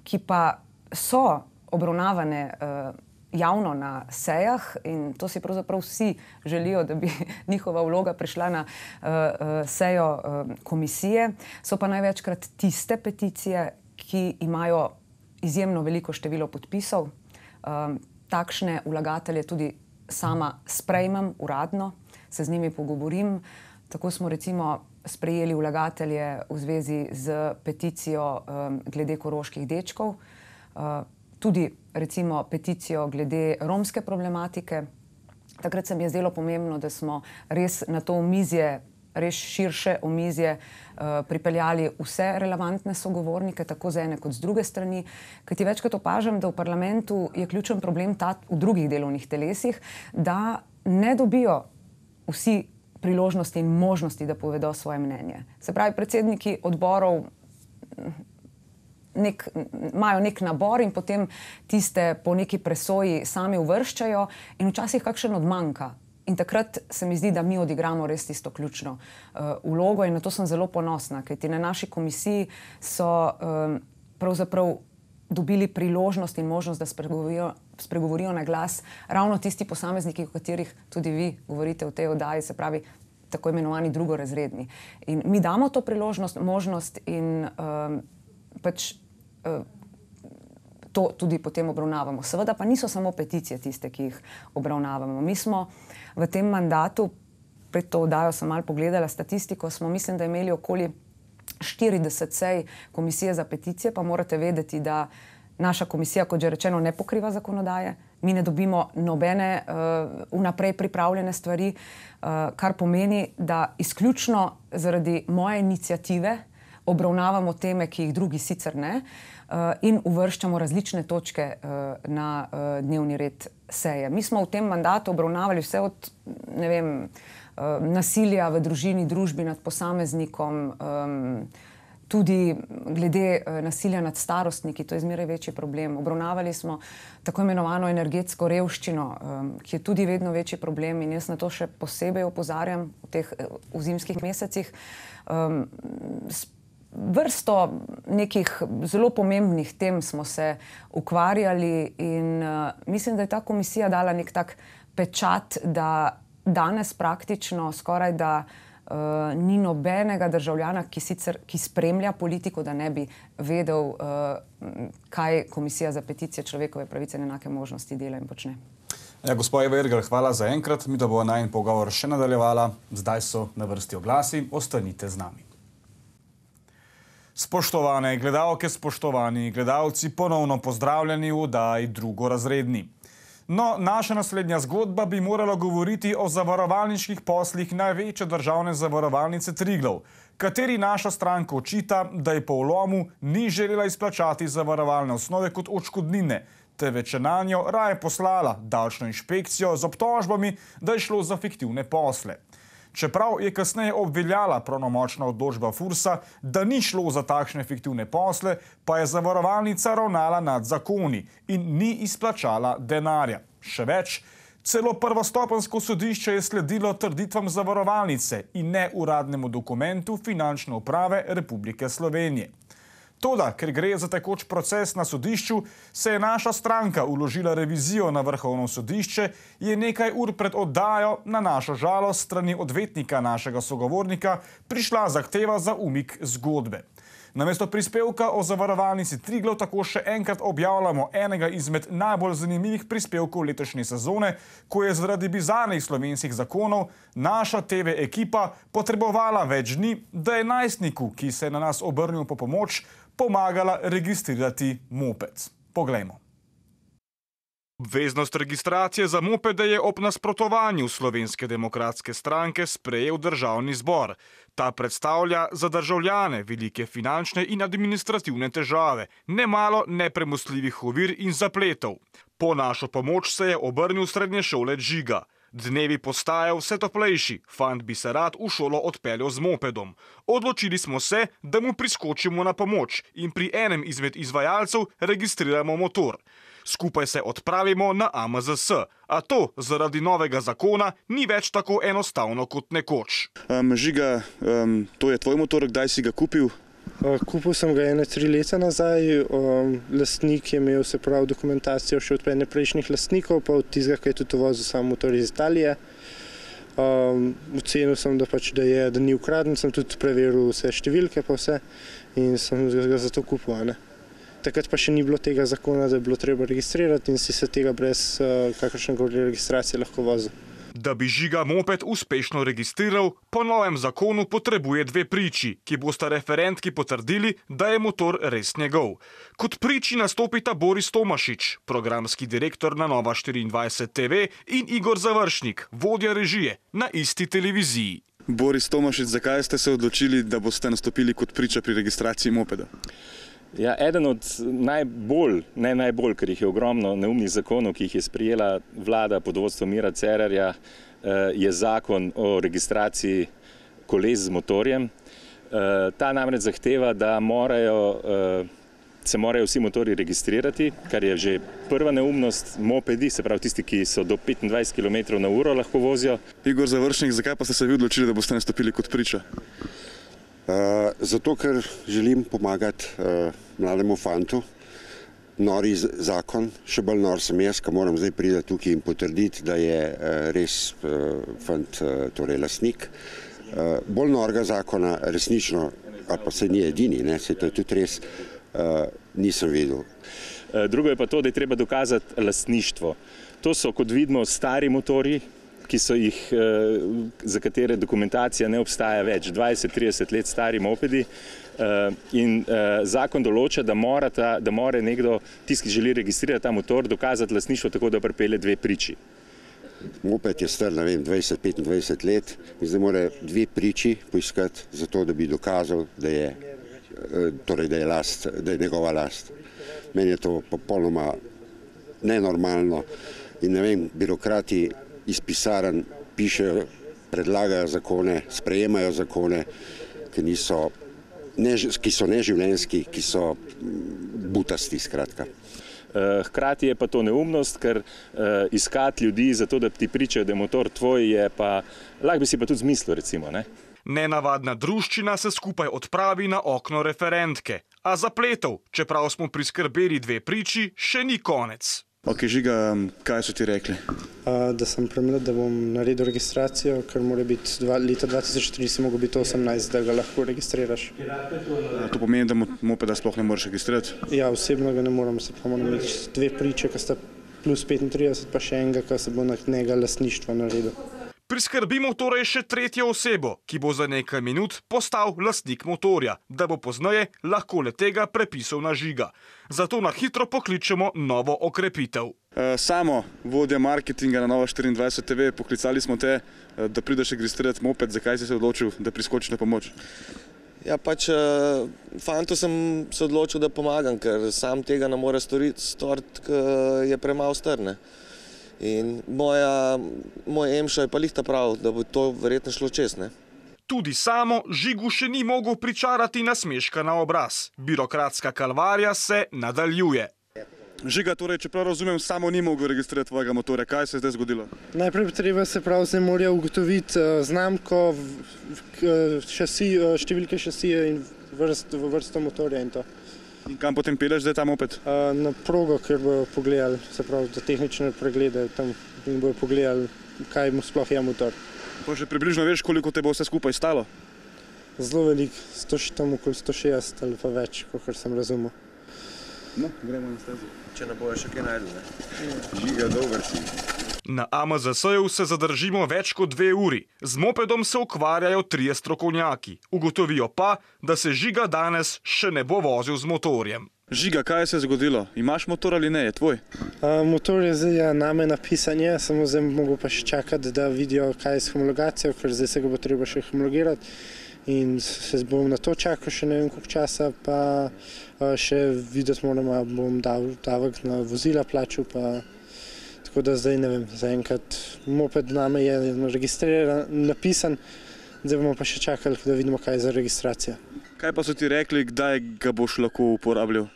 ki pa so obravnavane javno na sejah in to si pravzaprav vsi želijo, da bi njihova vloga prišla na sejo komisije, so pa največkrat tiste peticije, ki imajo izjemno veliko število podpisov. Takšne vlagatelje tudi sama sprejmem uradno, se z njimi pogovorim. Tako smo recimo sprejeli vlagatelje v zvezi z peticijo glede koroških dečkov, tudi recimo peticijo glede romske problematike. Takrat se mi je zdelo pomembno, da smo res na to omizje, res širše omizje pripeljali vse relevantne sogovornike, tako z ene kot z druge strani, kajti večkrat opažam, da v parlamentu je ključen problem ta v drugih delovnih telesih, da ne dobijo vsi priložnosti in možnosti, da povedo svoje mnenje. Se pravi, predsedniki odborov imajo nek nabor in potem tiste po neki presoji sami uvrščajo in včasih kakšen odmanjka. In takrat se mi zdi, da mi odigramo res tisto ključno vlogo in na to sem zelo ponosna, kajti na naši komisiji so pravzaprav dobili priložnost in možnost, da spregovorijo na glas ravno tisti posamezniki, o katerih tudi vi govorite v tej oddaji, se pravi tako imenovani drugorazredni. In mi damo to priložnost, možnost in pač to tudi potem obravnavamo. Seveda pa niso samo peticije tiste, ki jih obravnavamo. Mi smo v tem mandatu, pred to oddajo sem malo pogledala statistiko, smo mislim, da imeli okoli 40 sej komisije za peticije, pa morate vedeti, da naša komisija, kot že rečeno, ne pokriva zakonodaje. Mi ne dobimo nobene vnaprej pripravljene stvari, kar pomeni, da izključno zaradi moje iniciative obravnavamo teme, ki jih drugi sicer ne, in uvrščamo različne točke na dnevni red seje. Mi smo v tem mandatu obravnavali vse od, ne vem, nasilja v družini, družbi nad posameznikom, tudi glede nasilja nad starostniki, to je zmeraj večji problem. Obravnavali smo tako imenovano energetsko revščino, ki je tudi vedno večji problem in jaz na to še posebej opozarjam v zimskih mesecih. Vrsto nekih zelo pomembnih tem smo se ukvarjali in mislim, da je ta komisija dala nek tak pečat, da danes praktično skoraj da ni nobenega državljana, ki spremlja politiko, da ne bi vedel, kaj Komisija za peticije, človekove pravice in enake možnosti dela in počne. Ja, gospod Eva Irgl, hvala za enkrat. Mi da bo najin pogovor še nadaljevala. Zdaj so na vrsti oglasi. Ostanite z nami. Spoštovane gledalke, spoštovani gledalci, ponovno pozdravljeni v oddaji Drugorazredni. No, naša naslednja zgodba bi morala govoriti o zavarovalniških poslih največje državne zavarovalnice Triglav, kateri naša stranka očita, da je po vlomu ni želela izplačati zavarovalne osnove kot odškodnine, temveč je nanjo raje poslala davčno inšpekcijo z obtožbami, da je šlo za fiktivne posle. Čeprav je kasneje obveljala pravnomočna odločba Fursa, da ni šlo za takšne fiktivne posle, pa je zavarovalnica ravnala nad zakoni in ni izplačala denarja. Še več, celo prvostopenjsko sodišče je sledilo trditvam zavarovalnice in ne uradnemu dokumentu Finančne uprave Republike Slovenije. Toda, ker gre za tekoč proces na sodišču, se je naša stranka vložila revizijo na Vrhovno sodišče, je nekaj ur pred oddajo na našo žalost strani odvetnika našega sogovornika prišla zahteva za umik zgodbe. Namesto prispevka o zavarovalnici Triglav tako še enkrat objavljamo enega izmed najbolj zanimivih prispevkov letošnje sezone, ko je zaradi bizarnih slovenskih zakonov naša TV ekipa potrebovala več dni, da je najstniku, ki se je na nas obrnil po pomoč, pomagala registrirati moped. Poglejmo. Obveznost registracije za mopede je ob nasprotovanju Slovenske demokratske stranke sprejel Državni zbor. Ta predstavlja za državljane velike finančne in administrativne težave, nemalo nepremostljivih ovir in zapletov. Po našo pomoč se je obrnil srednješolec Žiga. Dnevi postajajo vse toplejši, fant bi se rad v šolo odpeljal z mopedom. Odločili smo se, da mu priskočimo na pomoč in pri enem izmed izvajalcev registriramo motor. Skupaj se odpravimo na AMZS, a to zaradi novega zakona ni več tako enostavno kot nekoč. Žiga, to je tvoj motor, kdaj si ga kupil? Kupil sem ga 3 leta nazaj, lastnik je imel se prav dokumentacijo še od prejšnjih lastnikov, pa od tistega, ki je tudi vozil sam motor iz Italije. Ocenil sem, da ni ukraden, sem tudi preveril vse številke pa vse in sem ga zato kupil. Takrat pa še ni bilo tega zakona, da je bilo treba registrirati in si se tega brez kakršnekoli registracije lahko vozil. Da bi Žiga moped uspešno registriral, po novem zakonu potrebuje 2 priči, ki bosta referentki potrdili, da je motor res njegov. Kot priči nastopita Boris Tomašič, programski direktor na Nova 24 TV, in Igor Završnik, vodja režije na isti televiziji. Boris Tomašič, zakaj ste se odločili, da boste nastopili kot priča pri registraciji mopeda? Ja, eden od najbolj, ker jih je ogromno neumnih zakonov, ki jih je sprejela vlada pod vodstvom Mira Cerarja, je zakon o registraciji koles z motorjem. Ta namreč zahteva, da se morajo vsi motorji registrirati, kar je že prva neumnost. Mopedi, se pravi tisti, ki so do 25 km/h lahko vozijo. Igor Završnik, zakaj pa ste se vi odločili, da boste nastopili kot priča? Zato, ker želim pomagati mlademu fantu. Nori zakon, še bolj nor sem jaz, ki moram zdaj priti tukaj in potrditi, da je res fant, torej lastnik. Bolj norega zakona resnično, ali pa se ni edini, se to je tudi res, nisem videl. Drugo je pa to, da je treba dokazati lastništvo. To so, kot vidimo, stari motorji, za katere dokumentacija ne obstaja več, 20-30 let stari mopedi, in zakon določa, da mora nekdo, tisti, ki želi registrirati ta motor, dokazati lastništvo tako, da pripelje 2 priči. Moped je star, 20-25 let in zdaj mora 2 priči poiskati za to, da bi dokazal, da je njegova last. Meni je to popolnoma nenormalno in ne vem, birokrati iz pisarn pišejo, predlagajo zakone, sprejemajo zakone, ki so neživljenjski, ki so butasti, skratka. Hkrati je pa to neumnost, ker iskati ljudi za to, da ti pričajo, da je motor tvoj, je pa, lahko bi si pa tudi zmislil, recimo, ne? Nenavadna druščina se skupaj odpravi na okno referentke, a zapletov, čeprav smo priskrbeli 2 priči, še ni konec. Ok, Žiga, kaj so ti rekli? Da sem premlad, da bom naredil registracijo, ker mora biti leta 2003 si mogel biti 18, da ga lahko registriraš. To pomeni, da mopeda sploh ne moreš registrirati? Ja, osebno ga ne moram, se pa moram imeti 2 priče, ki sta plus 35, pa še enega, ki se bo na njega lastništva naredil. Priskrbimo torej še 3. osebo, ki bo za nekaj minut postal lastnik motorja, da bo pozneje lahko le-tega prepisal na Žiga. Zato na hitro pokličemo novo okrepitev. Samo, vodja marketinga na Nova 24 TV, poklicali smo te, da prideš registrirati moped. Zakaj si se odločil, da priskočiš na pomoč? Ja, fantu sem se odločil, da pomagam, ker sam tega ne more storiti, ker je premalo star, ne. In moj emšo je pa lihta prav, da bo to verjetno šlo čez, ne. Tudi samo Žigu še ni mogel pričarati nasmeška na obraz. Birokratska kalvarija se nadaljuje. Žiga, torej, čeprav razumem, samo ni mogel registrirati tvojega motorja. Kaj se je zdaj zgodilo? Najprej treba se prav zdaj mora ugotoviti znamko, številke šasije in vrsto motorja in to. In kam potem peleš zdaj ta moped? Na progo, ker bojo pogledali, se pravi, za tehnične preglede tam in bojo pogledali, kaj mu sploh je motor. Pa že približno veš, koliko te bo vse skupaj stalo? Zelo veliko, tam okoli 160 ali pa več, kot sem razumel. No, gremo na stezo. Če ne bojo še kaj najdel, ne? Žiga, dober si. Na AMZS-ju se zadržimo več kot 2 uri. Z mopedom se ukvarjajo 3 strokovnjaki. Ugotovijo pa, da se Žiga danes še ne bo vozil z motorjem. Žiga, kaj se je zgodilo? Imaš motor ali ne? Je tvoj? Motor je zdaj name napisan, samo zdaj mogo pa še čakati, da vidijo, kaj je s homologacijo, ker zdaj se ga bo treba še homologirati. In se bom na to čakal še ne vem koliko časa, pa še videti moramo, bom davek na vozila plačal, pa tako da zdaj ne vem, zaenkrat moped name je registriran, napisan, zdaj bomo pa še čakali, da vidimo, kaj je za registracijo. Kaj pa so ti rekli, kdaj ga boš lahko uporabljal?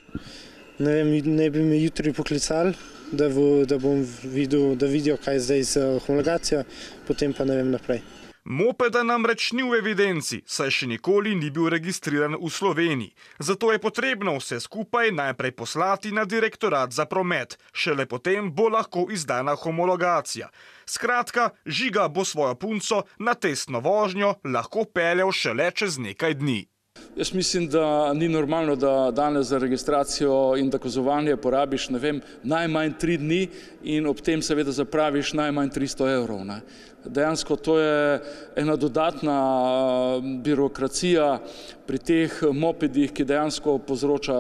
Ne vem, ne bi me jutri poklicali, da bom videl, da vidijo, kaj je zdaj z homologacijo, potem pa ne vem naprej. Mopeda namreč ni v evidenci, saj še nikoli ni bil registriran v Sloveniji. Zato je potrebno vse skupaj najprej poslati na Direktorat za promet, šele potem bo lahko izdana homologacija. Skratka, Žiga bo svojo punco na testno vožnjo lahko peljal šele čez nekaj dni. Jaz mislim, da ni normalno, da danes za registracijo in dokazovanje porabiš, ne vem, najmanj 3 dni in ob tem seveda zapraviš najmanj 300 evrov. Ne. Dejansko to je ena dodatna birokracija pri teh mopedih, ki dejansko povzroča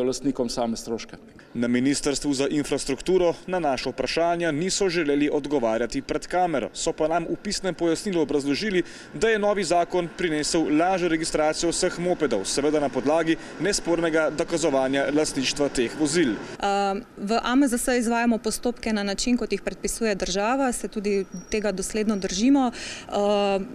lastnikom same stroške. Na Ministrstvu za infrastrukturo na naše vprašanja niso želeli odgovarjati pred kamero, so pa nam v pisnem pojasnilu obrazložili, da je novi zakon prinesel lažjo registracijo vseh mopedov, seveda na podlagi nespornega dokazovanja lastništva teh vozil. V AMZS izvajamo postopke na način, kot jih predpisuje država, se tudi tega dosledno držimo.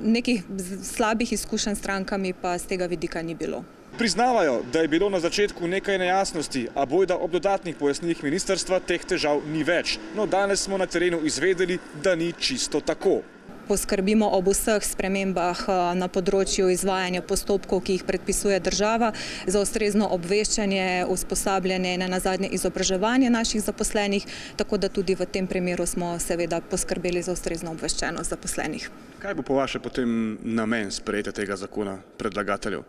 Nekih slabih izkušenj s strankami pa z tega vidika ni bilo. Priznavajo, da je bilo na začetku nekaj nejasnosti, a bojda ob dodatnih pojasnilih ministrstva teh težav ni več. No, danes smo na terenu izvedeli, da ni čisto tako. Poskrbimo ob vseh spremembah na področju izvajanja postopkov, ki jih predpisuje država, za ustrezno obveščanje, usposabljanje in nazadnje izobraževanje naših zaposlenih, tako da tudi v tem primeru smo seveda poskrbeli za ustrezno obveščenost zaposlenih. Kaj bo po vaše potem namen sprejetja tega zakona predlagateljev?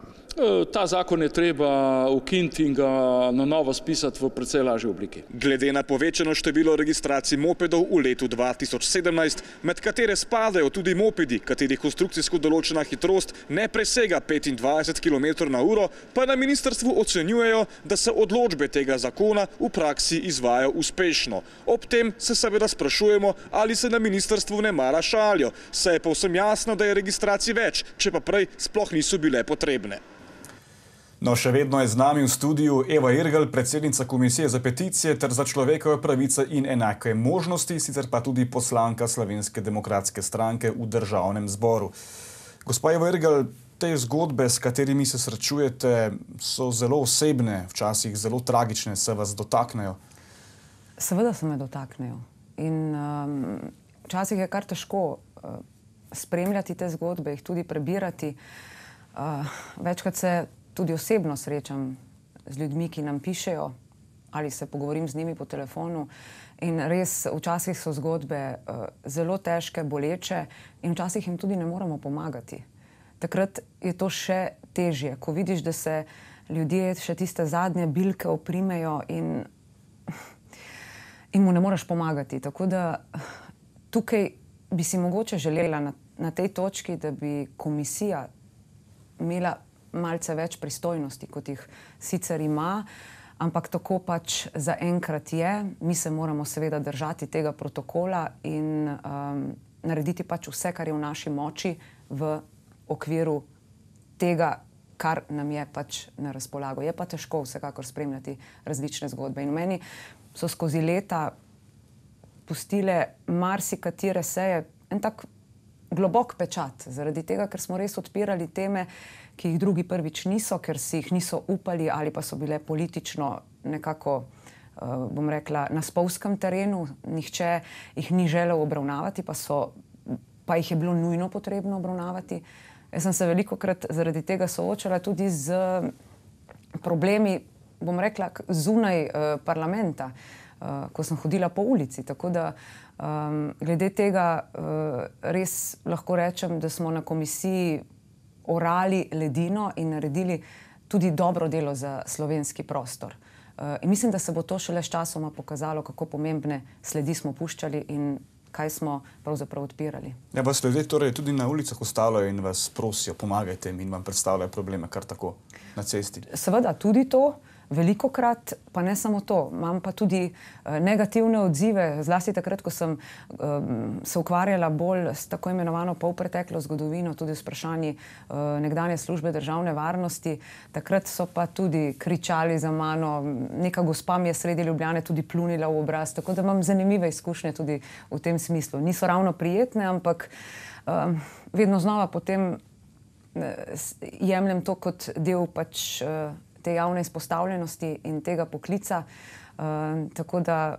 Ta zakon je treba ukiniti in ga na novo spisati v precej lažji obliki. Glede na povečano število registracij mopedov v letu 2017, med katere spadajo tudi mopedi, katerih konstrukcijsko določena hitrost ne presega 25 km/h, pa na ministrstvu ocenjujejo, da se odločbe tega zakona v praksi izvajajo uspešno. Ob tem se seveda sprašujemo, ali se na ministrstvu ne mara šalijo, saj je povsem jasno, da je registracij več, če pa prej sploh niso bile potrebne. No, še vedno je z nami v studiu Eva Irgl, predsednica Komisije za peticije ter za človekove pravice in enake možnosti, sicer pa tudi poslanka Slovenske demokratske stranke v Državnem zboru. Gospa Eva Irgl, te zgodbe, s katerimi se srečujete, so zelo osebne, včasih zelo tragične, se vas dotaknejo? Seveda se me dotaknejo. In včasih je kar težko spremljati te zgodbe, jih tudi prebirati. Večkrat se tudi osebno srečam z ljudmi, ki nam pišejo, ali se pogovorim z njimi po telefonu. In res, včasih so zgodbe zelo težke, boleče in včasih jim tudi ne moremo pomagati. Takrat je to še težje, ko vidiš, da se ljudje še tiste zadnje bilke oprimejo in mu ne moreš pomagati. Tako da tukaj bi si mogoče želela na tej točki, da bi komisija imela malce več pristojnosti, kot jih sicer ima, ampak tako pač zaenkrat je. Mi se moramo seveda držati tega protokola in narediti pač vse, kar je v naši moči v okviru tega, kar nam je pač na razpolago. Je pa težko vsekakor spremljati različne zgodbe. In meni so skozi leta pustile marsikatere seje en tak globok pečat, zaradi tega, ker smo res odpirali teme, ki jih drugi prvič niso, ker si jih niso upali ali pa so bile politično nekako, bom rekla, na spolzkem terenu. Nihče jih ni želel obravnavati, pa jih je bilo nujno potrebno obravnavati. Jaz sem se velikokrat zaradi tega soočala tudi z problemi, bom rekla, zunaj parlamenta, ko sem hodila po ulici. Tako da glede tega res lahko rečem, da smo na komisiji orali ledino in naredili tudi dobro delo za slovenski prostor. In mislim, da se bo to šele s časoma pokazalo, kako pomembne sledi smo puščali in kaj smo pravzaprav odpirali. Ja, vas ljudje torej tudi na ulicah ostavljajo in vas prosijo, pomagajte jim in vam predstavljajo probleme kar tako na cesti? Seveda tudi to. Velikokrat, pa ne samo to, imam pa tudi negativne odzive, zlasti takrat, ko sem se ukvarjala bolj s tako imenovano polpreteklo zgodovino, tudi s vprašanji nekdanje službe državne varnosti. Takrat so pa tudi kričali za mano, neka gospa mi je sredi Ljubljane tudi plunila v obraz, tako da imam zanimive izkušnje tudi v tem smislu. Niso ravno prijetne, ampak vedno znova potem jemljem to kot del pač te javne izpostavljenosti in tega poklica, tako da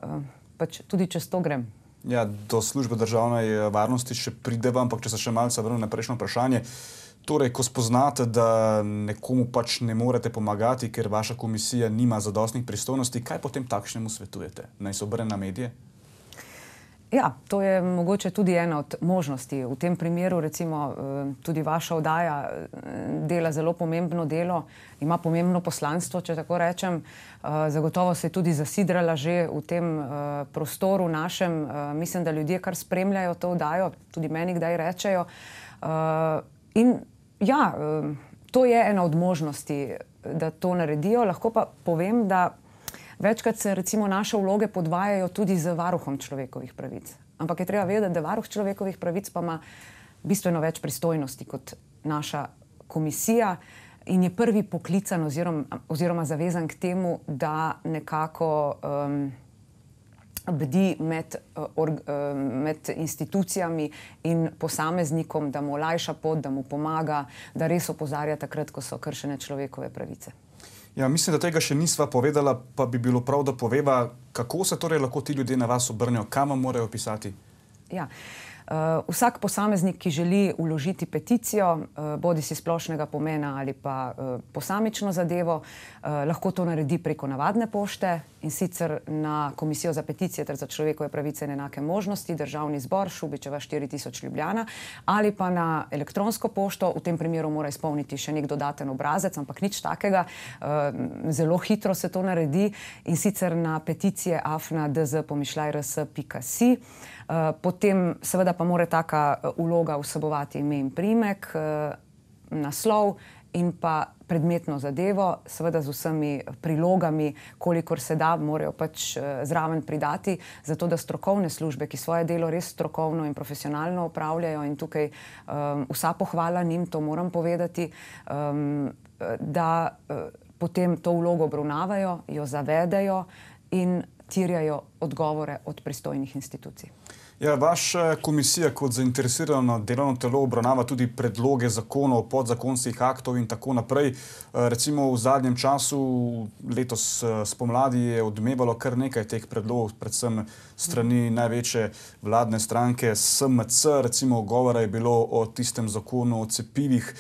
pač tudi čez to grem. Ja, do službe državne varnosti še prideva, ampak če se še malce vrnem na prejšnjo vprašanje. Torej, ko spoznate, da nekomu pač ne morete pomagati, ker vaša komisija nima zadostnih pristojnosti, kaj potem takšnemu svetujete? Naj se obrne na medije? Ja, to je mogoče tudi ena od možnosti. V tem primeru recimo tudi vaša oddaja dela zelo pomembno delo, ima pomembno poslanstvo, če tako rečem. Zagotovo se je tudi zasidrala že v tem prostoru našem. Mislim, da ljudje kar spremljajo to oddajo, tudi meni kdaj rečejo. In ja, to je ena od možnosti, da to naredijo. Lahko pa povem, da večkrat se recimo naše vloge podvajajo tudi z varuhom človekovih pravic. Ampak je treba vedeti, da varuh človekovih pravic pa ima bistveno več pristojnosti kot naša komisija in je prvi poklican oziroma zavezan k temu, da nekako bdi med institucijami in posameznikom, da mu olajša pot, da mu pomaga, da res opozarja takrat, ko so kršene človekove pravice. Ja, mislim, da tega še nisva povedala, pa bi bilo prav, da poveva, kako se torej lahko ti ljudje na vas obrnejo, kam vam morajo pisati? Ja, vsak posameznik, ki želi vložiti peticijo, bodisi splošnega pomena ali pa posamično zadevo, lahko to naredi preko navadne pošte in sicer na Komisijo za peticije ter za človekove pravice in enake možnosti, Državni zbor, Šubičeva 4000 Ljubljana, ali pa na elektronsko pošto. V tem primeru mora izpolniti še nek dodaten obrazec, ampak nič takega. Zelo hitro se to naredi in sicer na peticije@dz_rs.si. Potem seveda pa mora taka vloga vsebovati ime in priimek, naslov in pa predmetno zadevo, seveda z vsemi prilogami, kolikor se da, morajo pač zraven pridati, zato da strokovne službe, ki svoje delo res strokovno in profesionalno opravljajo in tukaj vsa pohvala njim, to moram povedati, da potem to vlogo obravnavajo, jo zavedajo in terjajo odgovore od pristojnih institucij. Ja, vaša komisija kot zainteresirano delovno telo obravnava tudi predloge zakonov, podzakonskih aktov in tako naprej. Recimo v zadnjem času, letos spomladi, je odmevalo kar nekaj teh predlogov, predvsem strani največje vladne stranke SMC. Recimo govora je bilo o tistem zakonu o cepivih,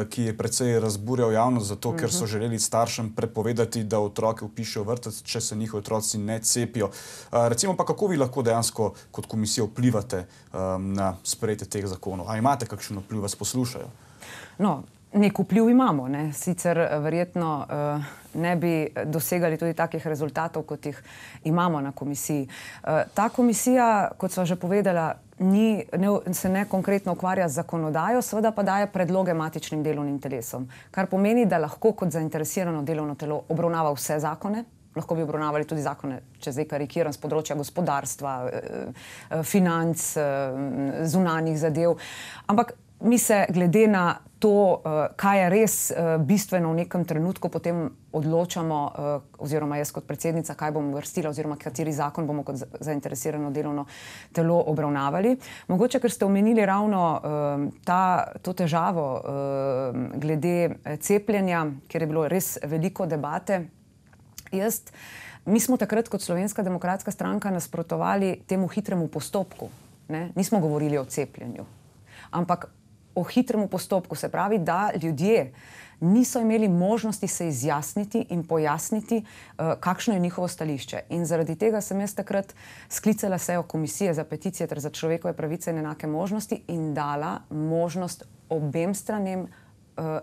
ki je precej razburjal javnost, zato ker so želeli staršem prepovedati, da otroke vpišejo v vrtec, če se njihovi otroci ne cepijo. Recimo pa, kako vi lahko dejansko kot komisija vplivate na sprejetje teh zakonov? A imate kakšen vpliv, vas poslušajo? No, nek vpliv imamo, ne? Sicer verjetno ne bi dosegali tudi takih rezultatov, kot jih imamo na komisiji. Ta komisija, kot sva že povedala, se ne konkretno ukvarja z zakonodajo, seveda pa daje predloge matičnim delovnim telesom, kar pomeni, da lahko kot zainteresirano delovno telo obravnava vse zakone. Lahko bi obravnavali tudi zakone, če zdaj karikiram, z področja gospodarstva, financ, zunanjih zadev. Ampak mi se glede na to, kaj je res bistveno v nekem trenutku, potem odločamo, oziroma jaz kot predsednica, kaj bom uvrstila oziroma kateri zakon bomo kot zainteresirano delovno telo obravnavali. Mogoče, ker ste omenili ravno to težavo glede cepljenja, kjer je bilo res veliko debate. Mi smo takrat kot Slovenska demokratska stranka nasprotovali temu hitremu postopku. Nismo govorili o cepljenju, ampak o hitremu postopku, se pravi, da ljudje niso imeli možnosti se izjasniti in pojasniti, kakšno je njihovo stališče. In zaradi tega sem jaz takrat sklicala sejo Komisije za peticije ter za človekove pravice in enake možnosti in dala možnost obem stranem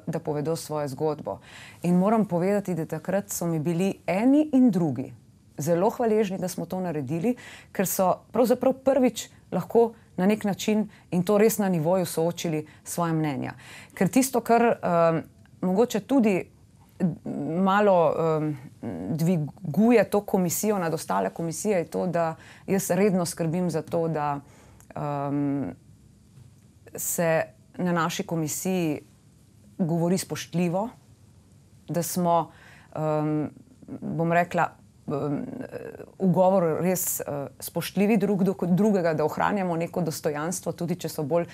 da povedo svojo zgodbo. In moram povedati, da takrat so mi bili eni in drugi zelo hvaležni, da smo to naredili, ker so pravzaprav prvič lahko na nek način in to res na nivoju soočili svoje mnenja. Ker tisto, kar mogoče tudi malo dviguje to komisijo nad ostale komisije, je to, da jaz redno skrbim za to, da se na naši komisiji govori spoštljivo, da smo, bom rekla, v govoru res spoštljivi drug do drugega, da ohranjamo neko dostojanstvo, tudi če so bolj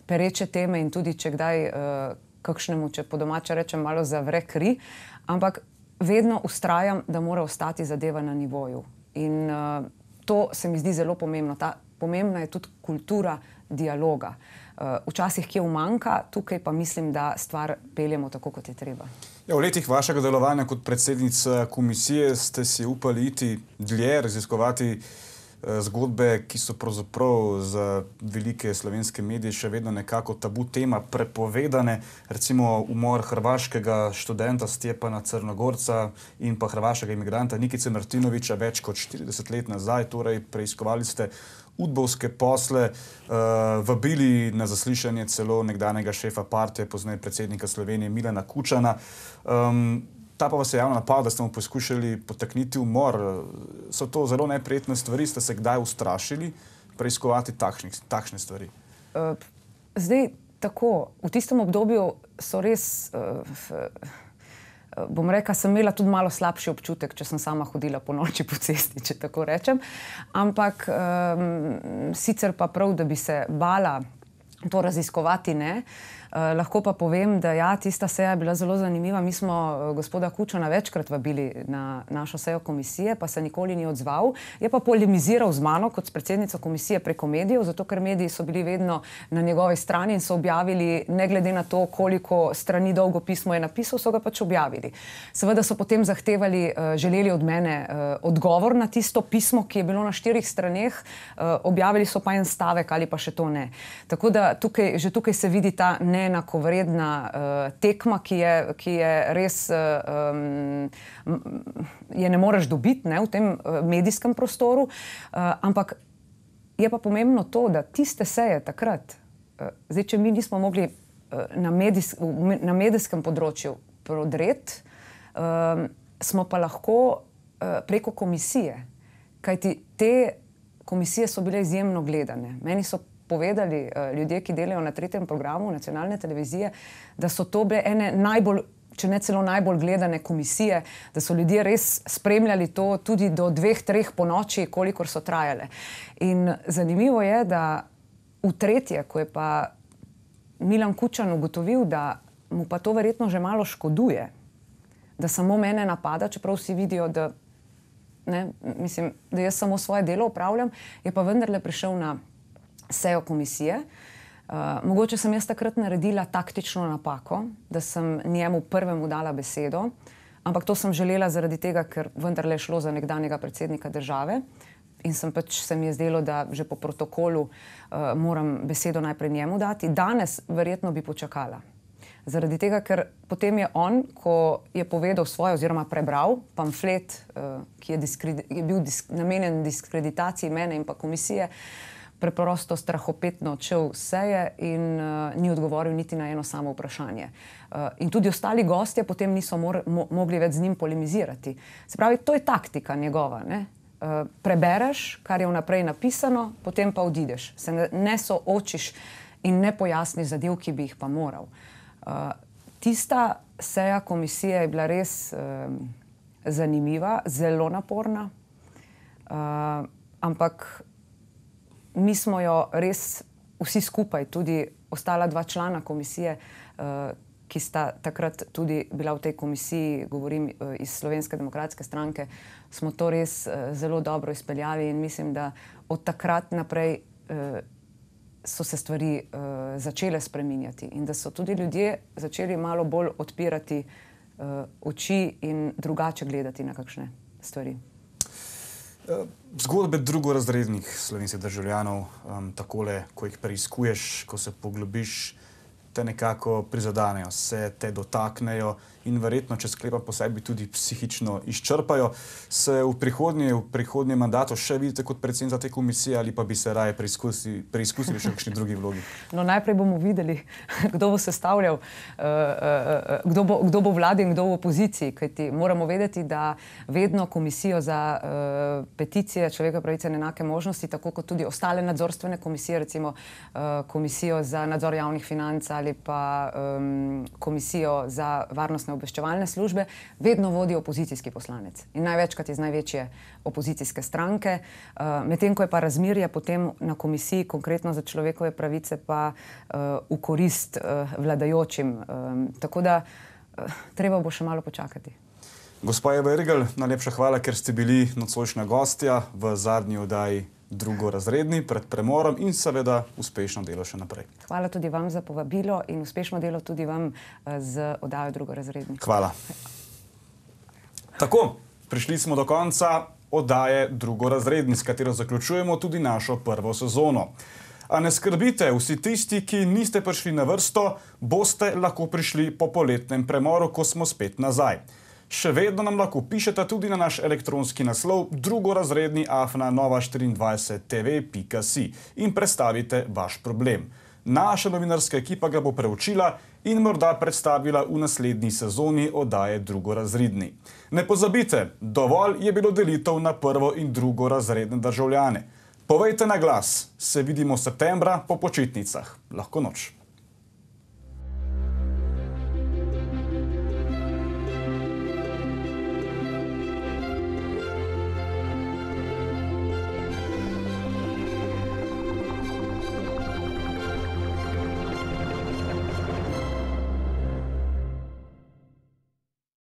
pereče teme in tudi če kdaj kakšnemu, če po domače rečem, malo zavre kri, ampak vedno vztrajam, da mora ostati zadeva na nivoju. In to se mi zdi zelo pomembno. Pomembna je tudi kultura dialoga. Včasih kje umanjka, tukaj pa mislim, da stvar peljemo tako, kot je treba. Ja, v letih vašega delovanja kot predsednica komisije ste si upali iti dlje, raziskovati zgodbe, ki so pravzaprav za velike slovenske medije še vedno nekako tabu tema, prepovedane. Recimo umor hrvaškega študenta Stjepana Crnogorca in pa hrvaškega imigranta Nikice Martinovića več kot 40 let nazaj. Torej, preiskovali ste udbovske posle, vabili na zaslišanje celo nekdanjega šefa partije, pozneje predsednika Slovenije Milana Kučana. Ta pa vas je javno napadal, da ste mu poskušali potakniti umor. So to zelo neprijetne stvari? Ste se kdaj ustrašili preiskovati takšne stvari? Zdaj, tako, v tistem obdobju so res, bom rekla, sem imela tudi malo slabši občutek, če sem sama hodila po noči po cesti, če tako rečem. Ampak sicer pa prav, da bi se bala to raziskovati, ne. Lahko pa povem, da ja, tista seja je bila zelo zanimiva. Mi smo gospoda Kučana večkrat vabili na našo sejo komisije, pa se nikoli ni odzval. Je pa polemiziral z mano kot s predsednico komisije preko medijev, zato ker mediji so bili vedno na njegovi strani in so objavili, ne glede na to, koliko strani dolgo pismo je napisal, so ga pač objavili. Seveda so potem zahtevali, želeli od mene odgovor na tisto pismo, ki je bilo na 4 straneh, objavili so pa en stavek ali pa še to ne. Tako da že tukaj se vidi ta neenakovredna tekma, ki je res, je ne moreš dobiti v tem medijskem prostoru, ampak je pa pomembno to, da tiste seje takrat, zdaj, če mi nismo mogli na medijskem področju prodreti, smo pa lahko preko komisije, kajti te komisije so bile izjemno gledane. Meni so povedali ljudje, ki delajo na 3. programu nacionalne televizije, da so to bile ene najbolj, če ne celo najbolj gledane komisije, da so ljudje res spremljali to tudi do 2-3 po noči, kolikor so trajale. In zanimivo je, da v tretje, ko je pa Milan Kučan ugotovil, da mu pa to verjetno že malo škoduje, da samo mene napada, čeprav vsi vidijo, da, ne, mislim, da jaz samo svoje delo opravljam, je pa vendarle prišel na sejo komisije. Mogoče sem jaz takrat naredila taktično napako, da sem njemu prvemu dala besedo, ampak to sem želela zaradi tega, ker vendarle je šlo za nekdanjega predsednika države in se mi je zdelo, da že po protokolu moram besedo najprej njemu dati. Danes verjetno bi počakala. Zaradi tega, ker potem je on, ko je povedal svoje oziroma prebral pamflet, ki je bil namenjen diskreditaciji mene in pa komisije, preprosto strahopetno odšel seje in ni odgovoril niti na eno samo vprašanje. In tudi ostali gostje potem niso mogli več z njim polemizirati. Se pravi, to je taktika njegova, ne? Prebereš, kar je vnaprej napisano, potem pa odideš. Se ne soočiš in ne pojasniš zadev, ki bi jih pa moral. Tista seja komisije je bila res zanimiva, zelo naporna, ampak mi smo jo res vsi skupaj, tudi ostala 2 člana komisije, ki sta takrat tudi bila v tej komisiji, govorim iz Slovenske demokratske stranke, smo to res zelo dobro izpeljali in mislim, da od takrat naprej so se stvari začele spreminjati in da so tudi ljudje začeli malo bolj odpirati oči in drugače gledati na kakšne stvari. Zgodbe drugorazrednih slovenskih državljanov, takole, ko jih preiskuješ, ko se poglobiš, te nekako prizadanejo, se te dotaknejo in verjetno, če sklepam po sebi, tudi psihično izčrpajo. Se v prihodnjem mandatu še vidite kot predsednica te komisije ali pa bi se raje preizkusili še v kakšni drugi vlogi? No, najprej bomo videli, kdo bo sestavljal, kdo bo vladi in kdo v opoziciji, kajti moramo vedeti, da vedno komisijo za peticije, človekove pravice in enake možnosti, tako kot tudi ostale nadzorstvene komisije, recimo komisijo za nadzor javnih financ ali pa komisijo za varnostne obveščevalne službe, vedno vodi opozicijski poslanec. In največkrat iz največje opozicijske stranke. Medtem ko je pa razmerje potem na komisiji, konkretno za človekove pravice, pa v korist vladajočim. Tako da treba bo še malo počakati. Gospa Eva Irgl, najlepša hvala, ker ste bili nocojšnja gostja v zadnji oddaji Drugorazredni pred premorom in seveda uspešno delo še naprej. Hvala tudi vam za povabilo in uspešno delo tudi vam z oddajo Drugorazredni. Hvala. Tako, prišli smo do konca oddaje Drugorazredni, s katero zaključujemo tudi našo prvo sezono. A ne skrbite, vsi tisti, ki niste prišli na vrsto, boste lahko prišli po poletnem premoru, ko smo spet nazaj. Še vedno nam lahko pišete tudi na naš elektronski naslov drugorazredni@nova24tv.si in predstavite vaš problem. Naša novinarska ekipa ga bo preučila in morda predstavila v naslednji sezoni oddaje Drugorazredni. Ne pozabite, dovolj je bilo delitev na prvo in drugorazredne državljane. Povejte na glas, se vidimo septembra po počitnicah. Lahko noč.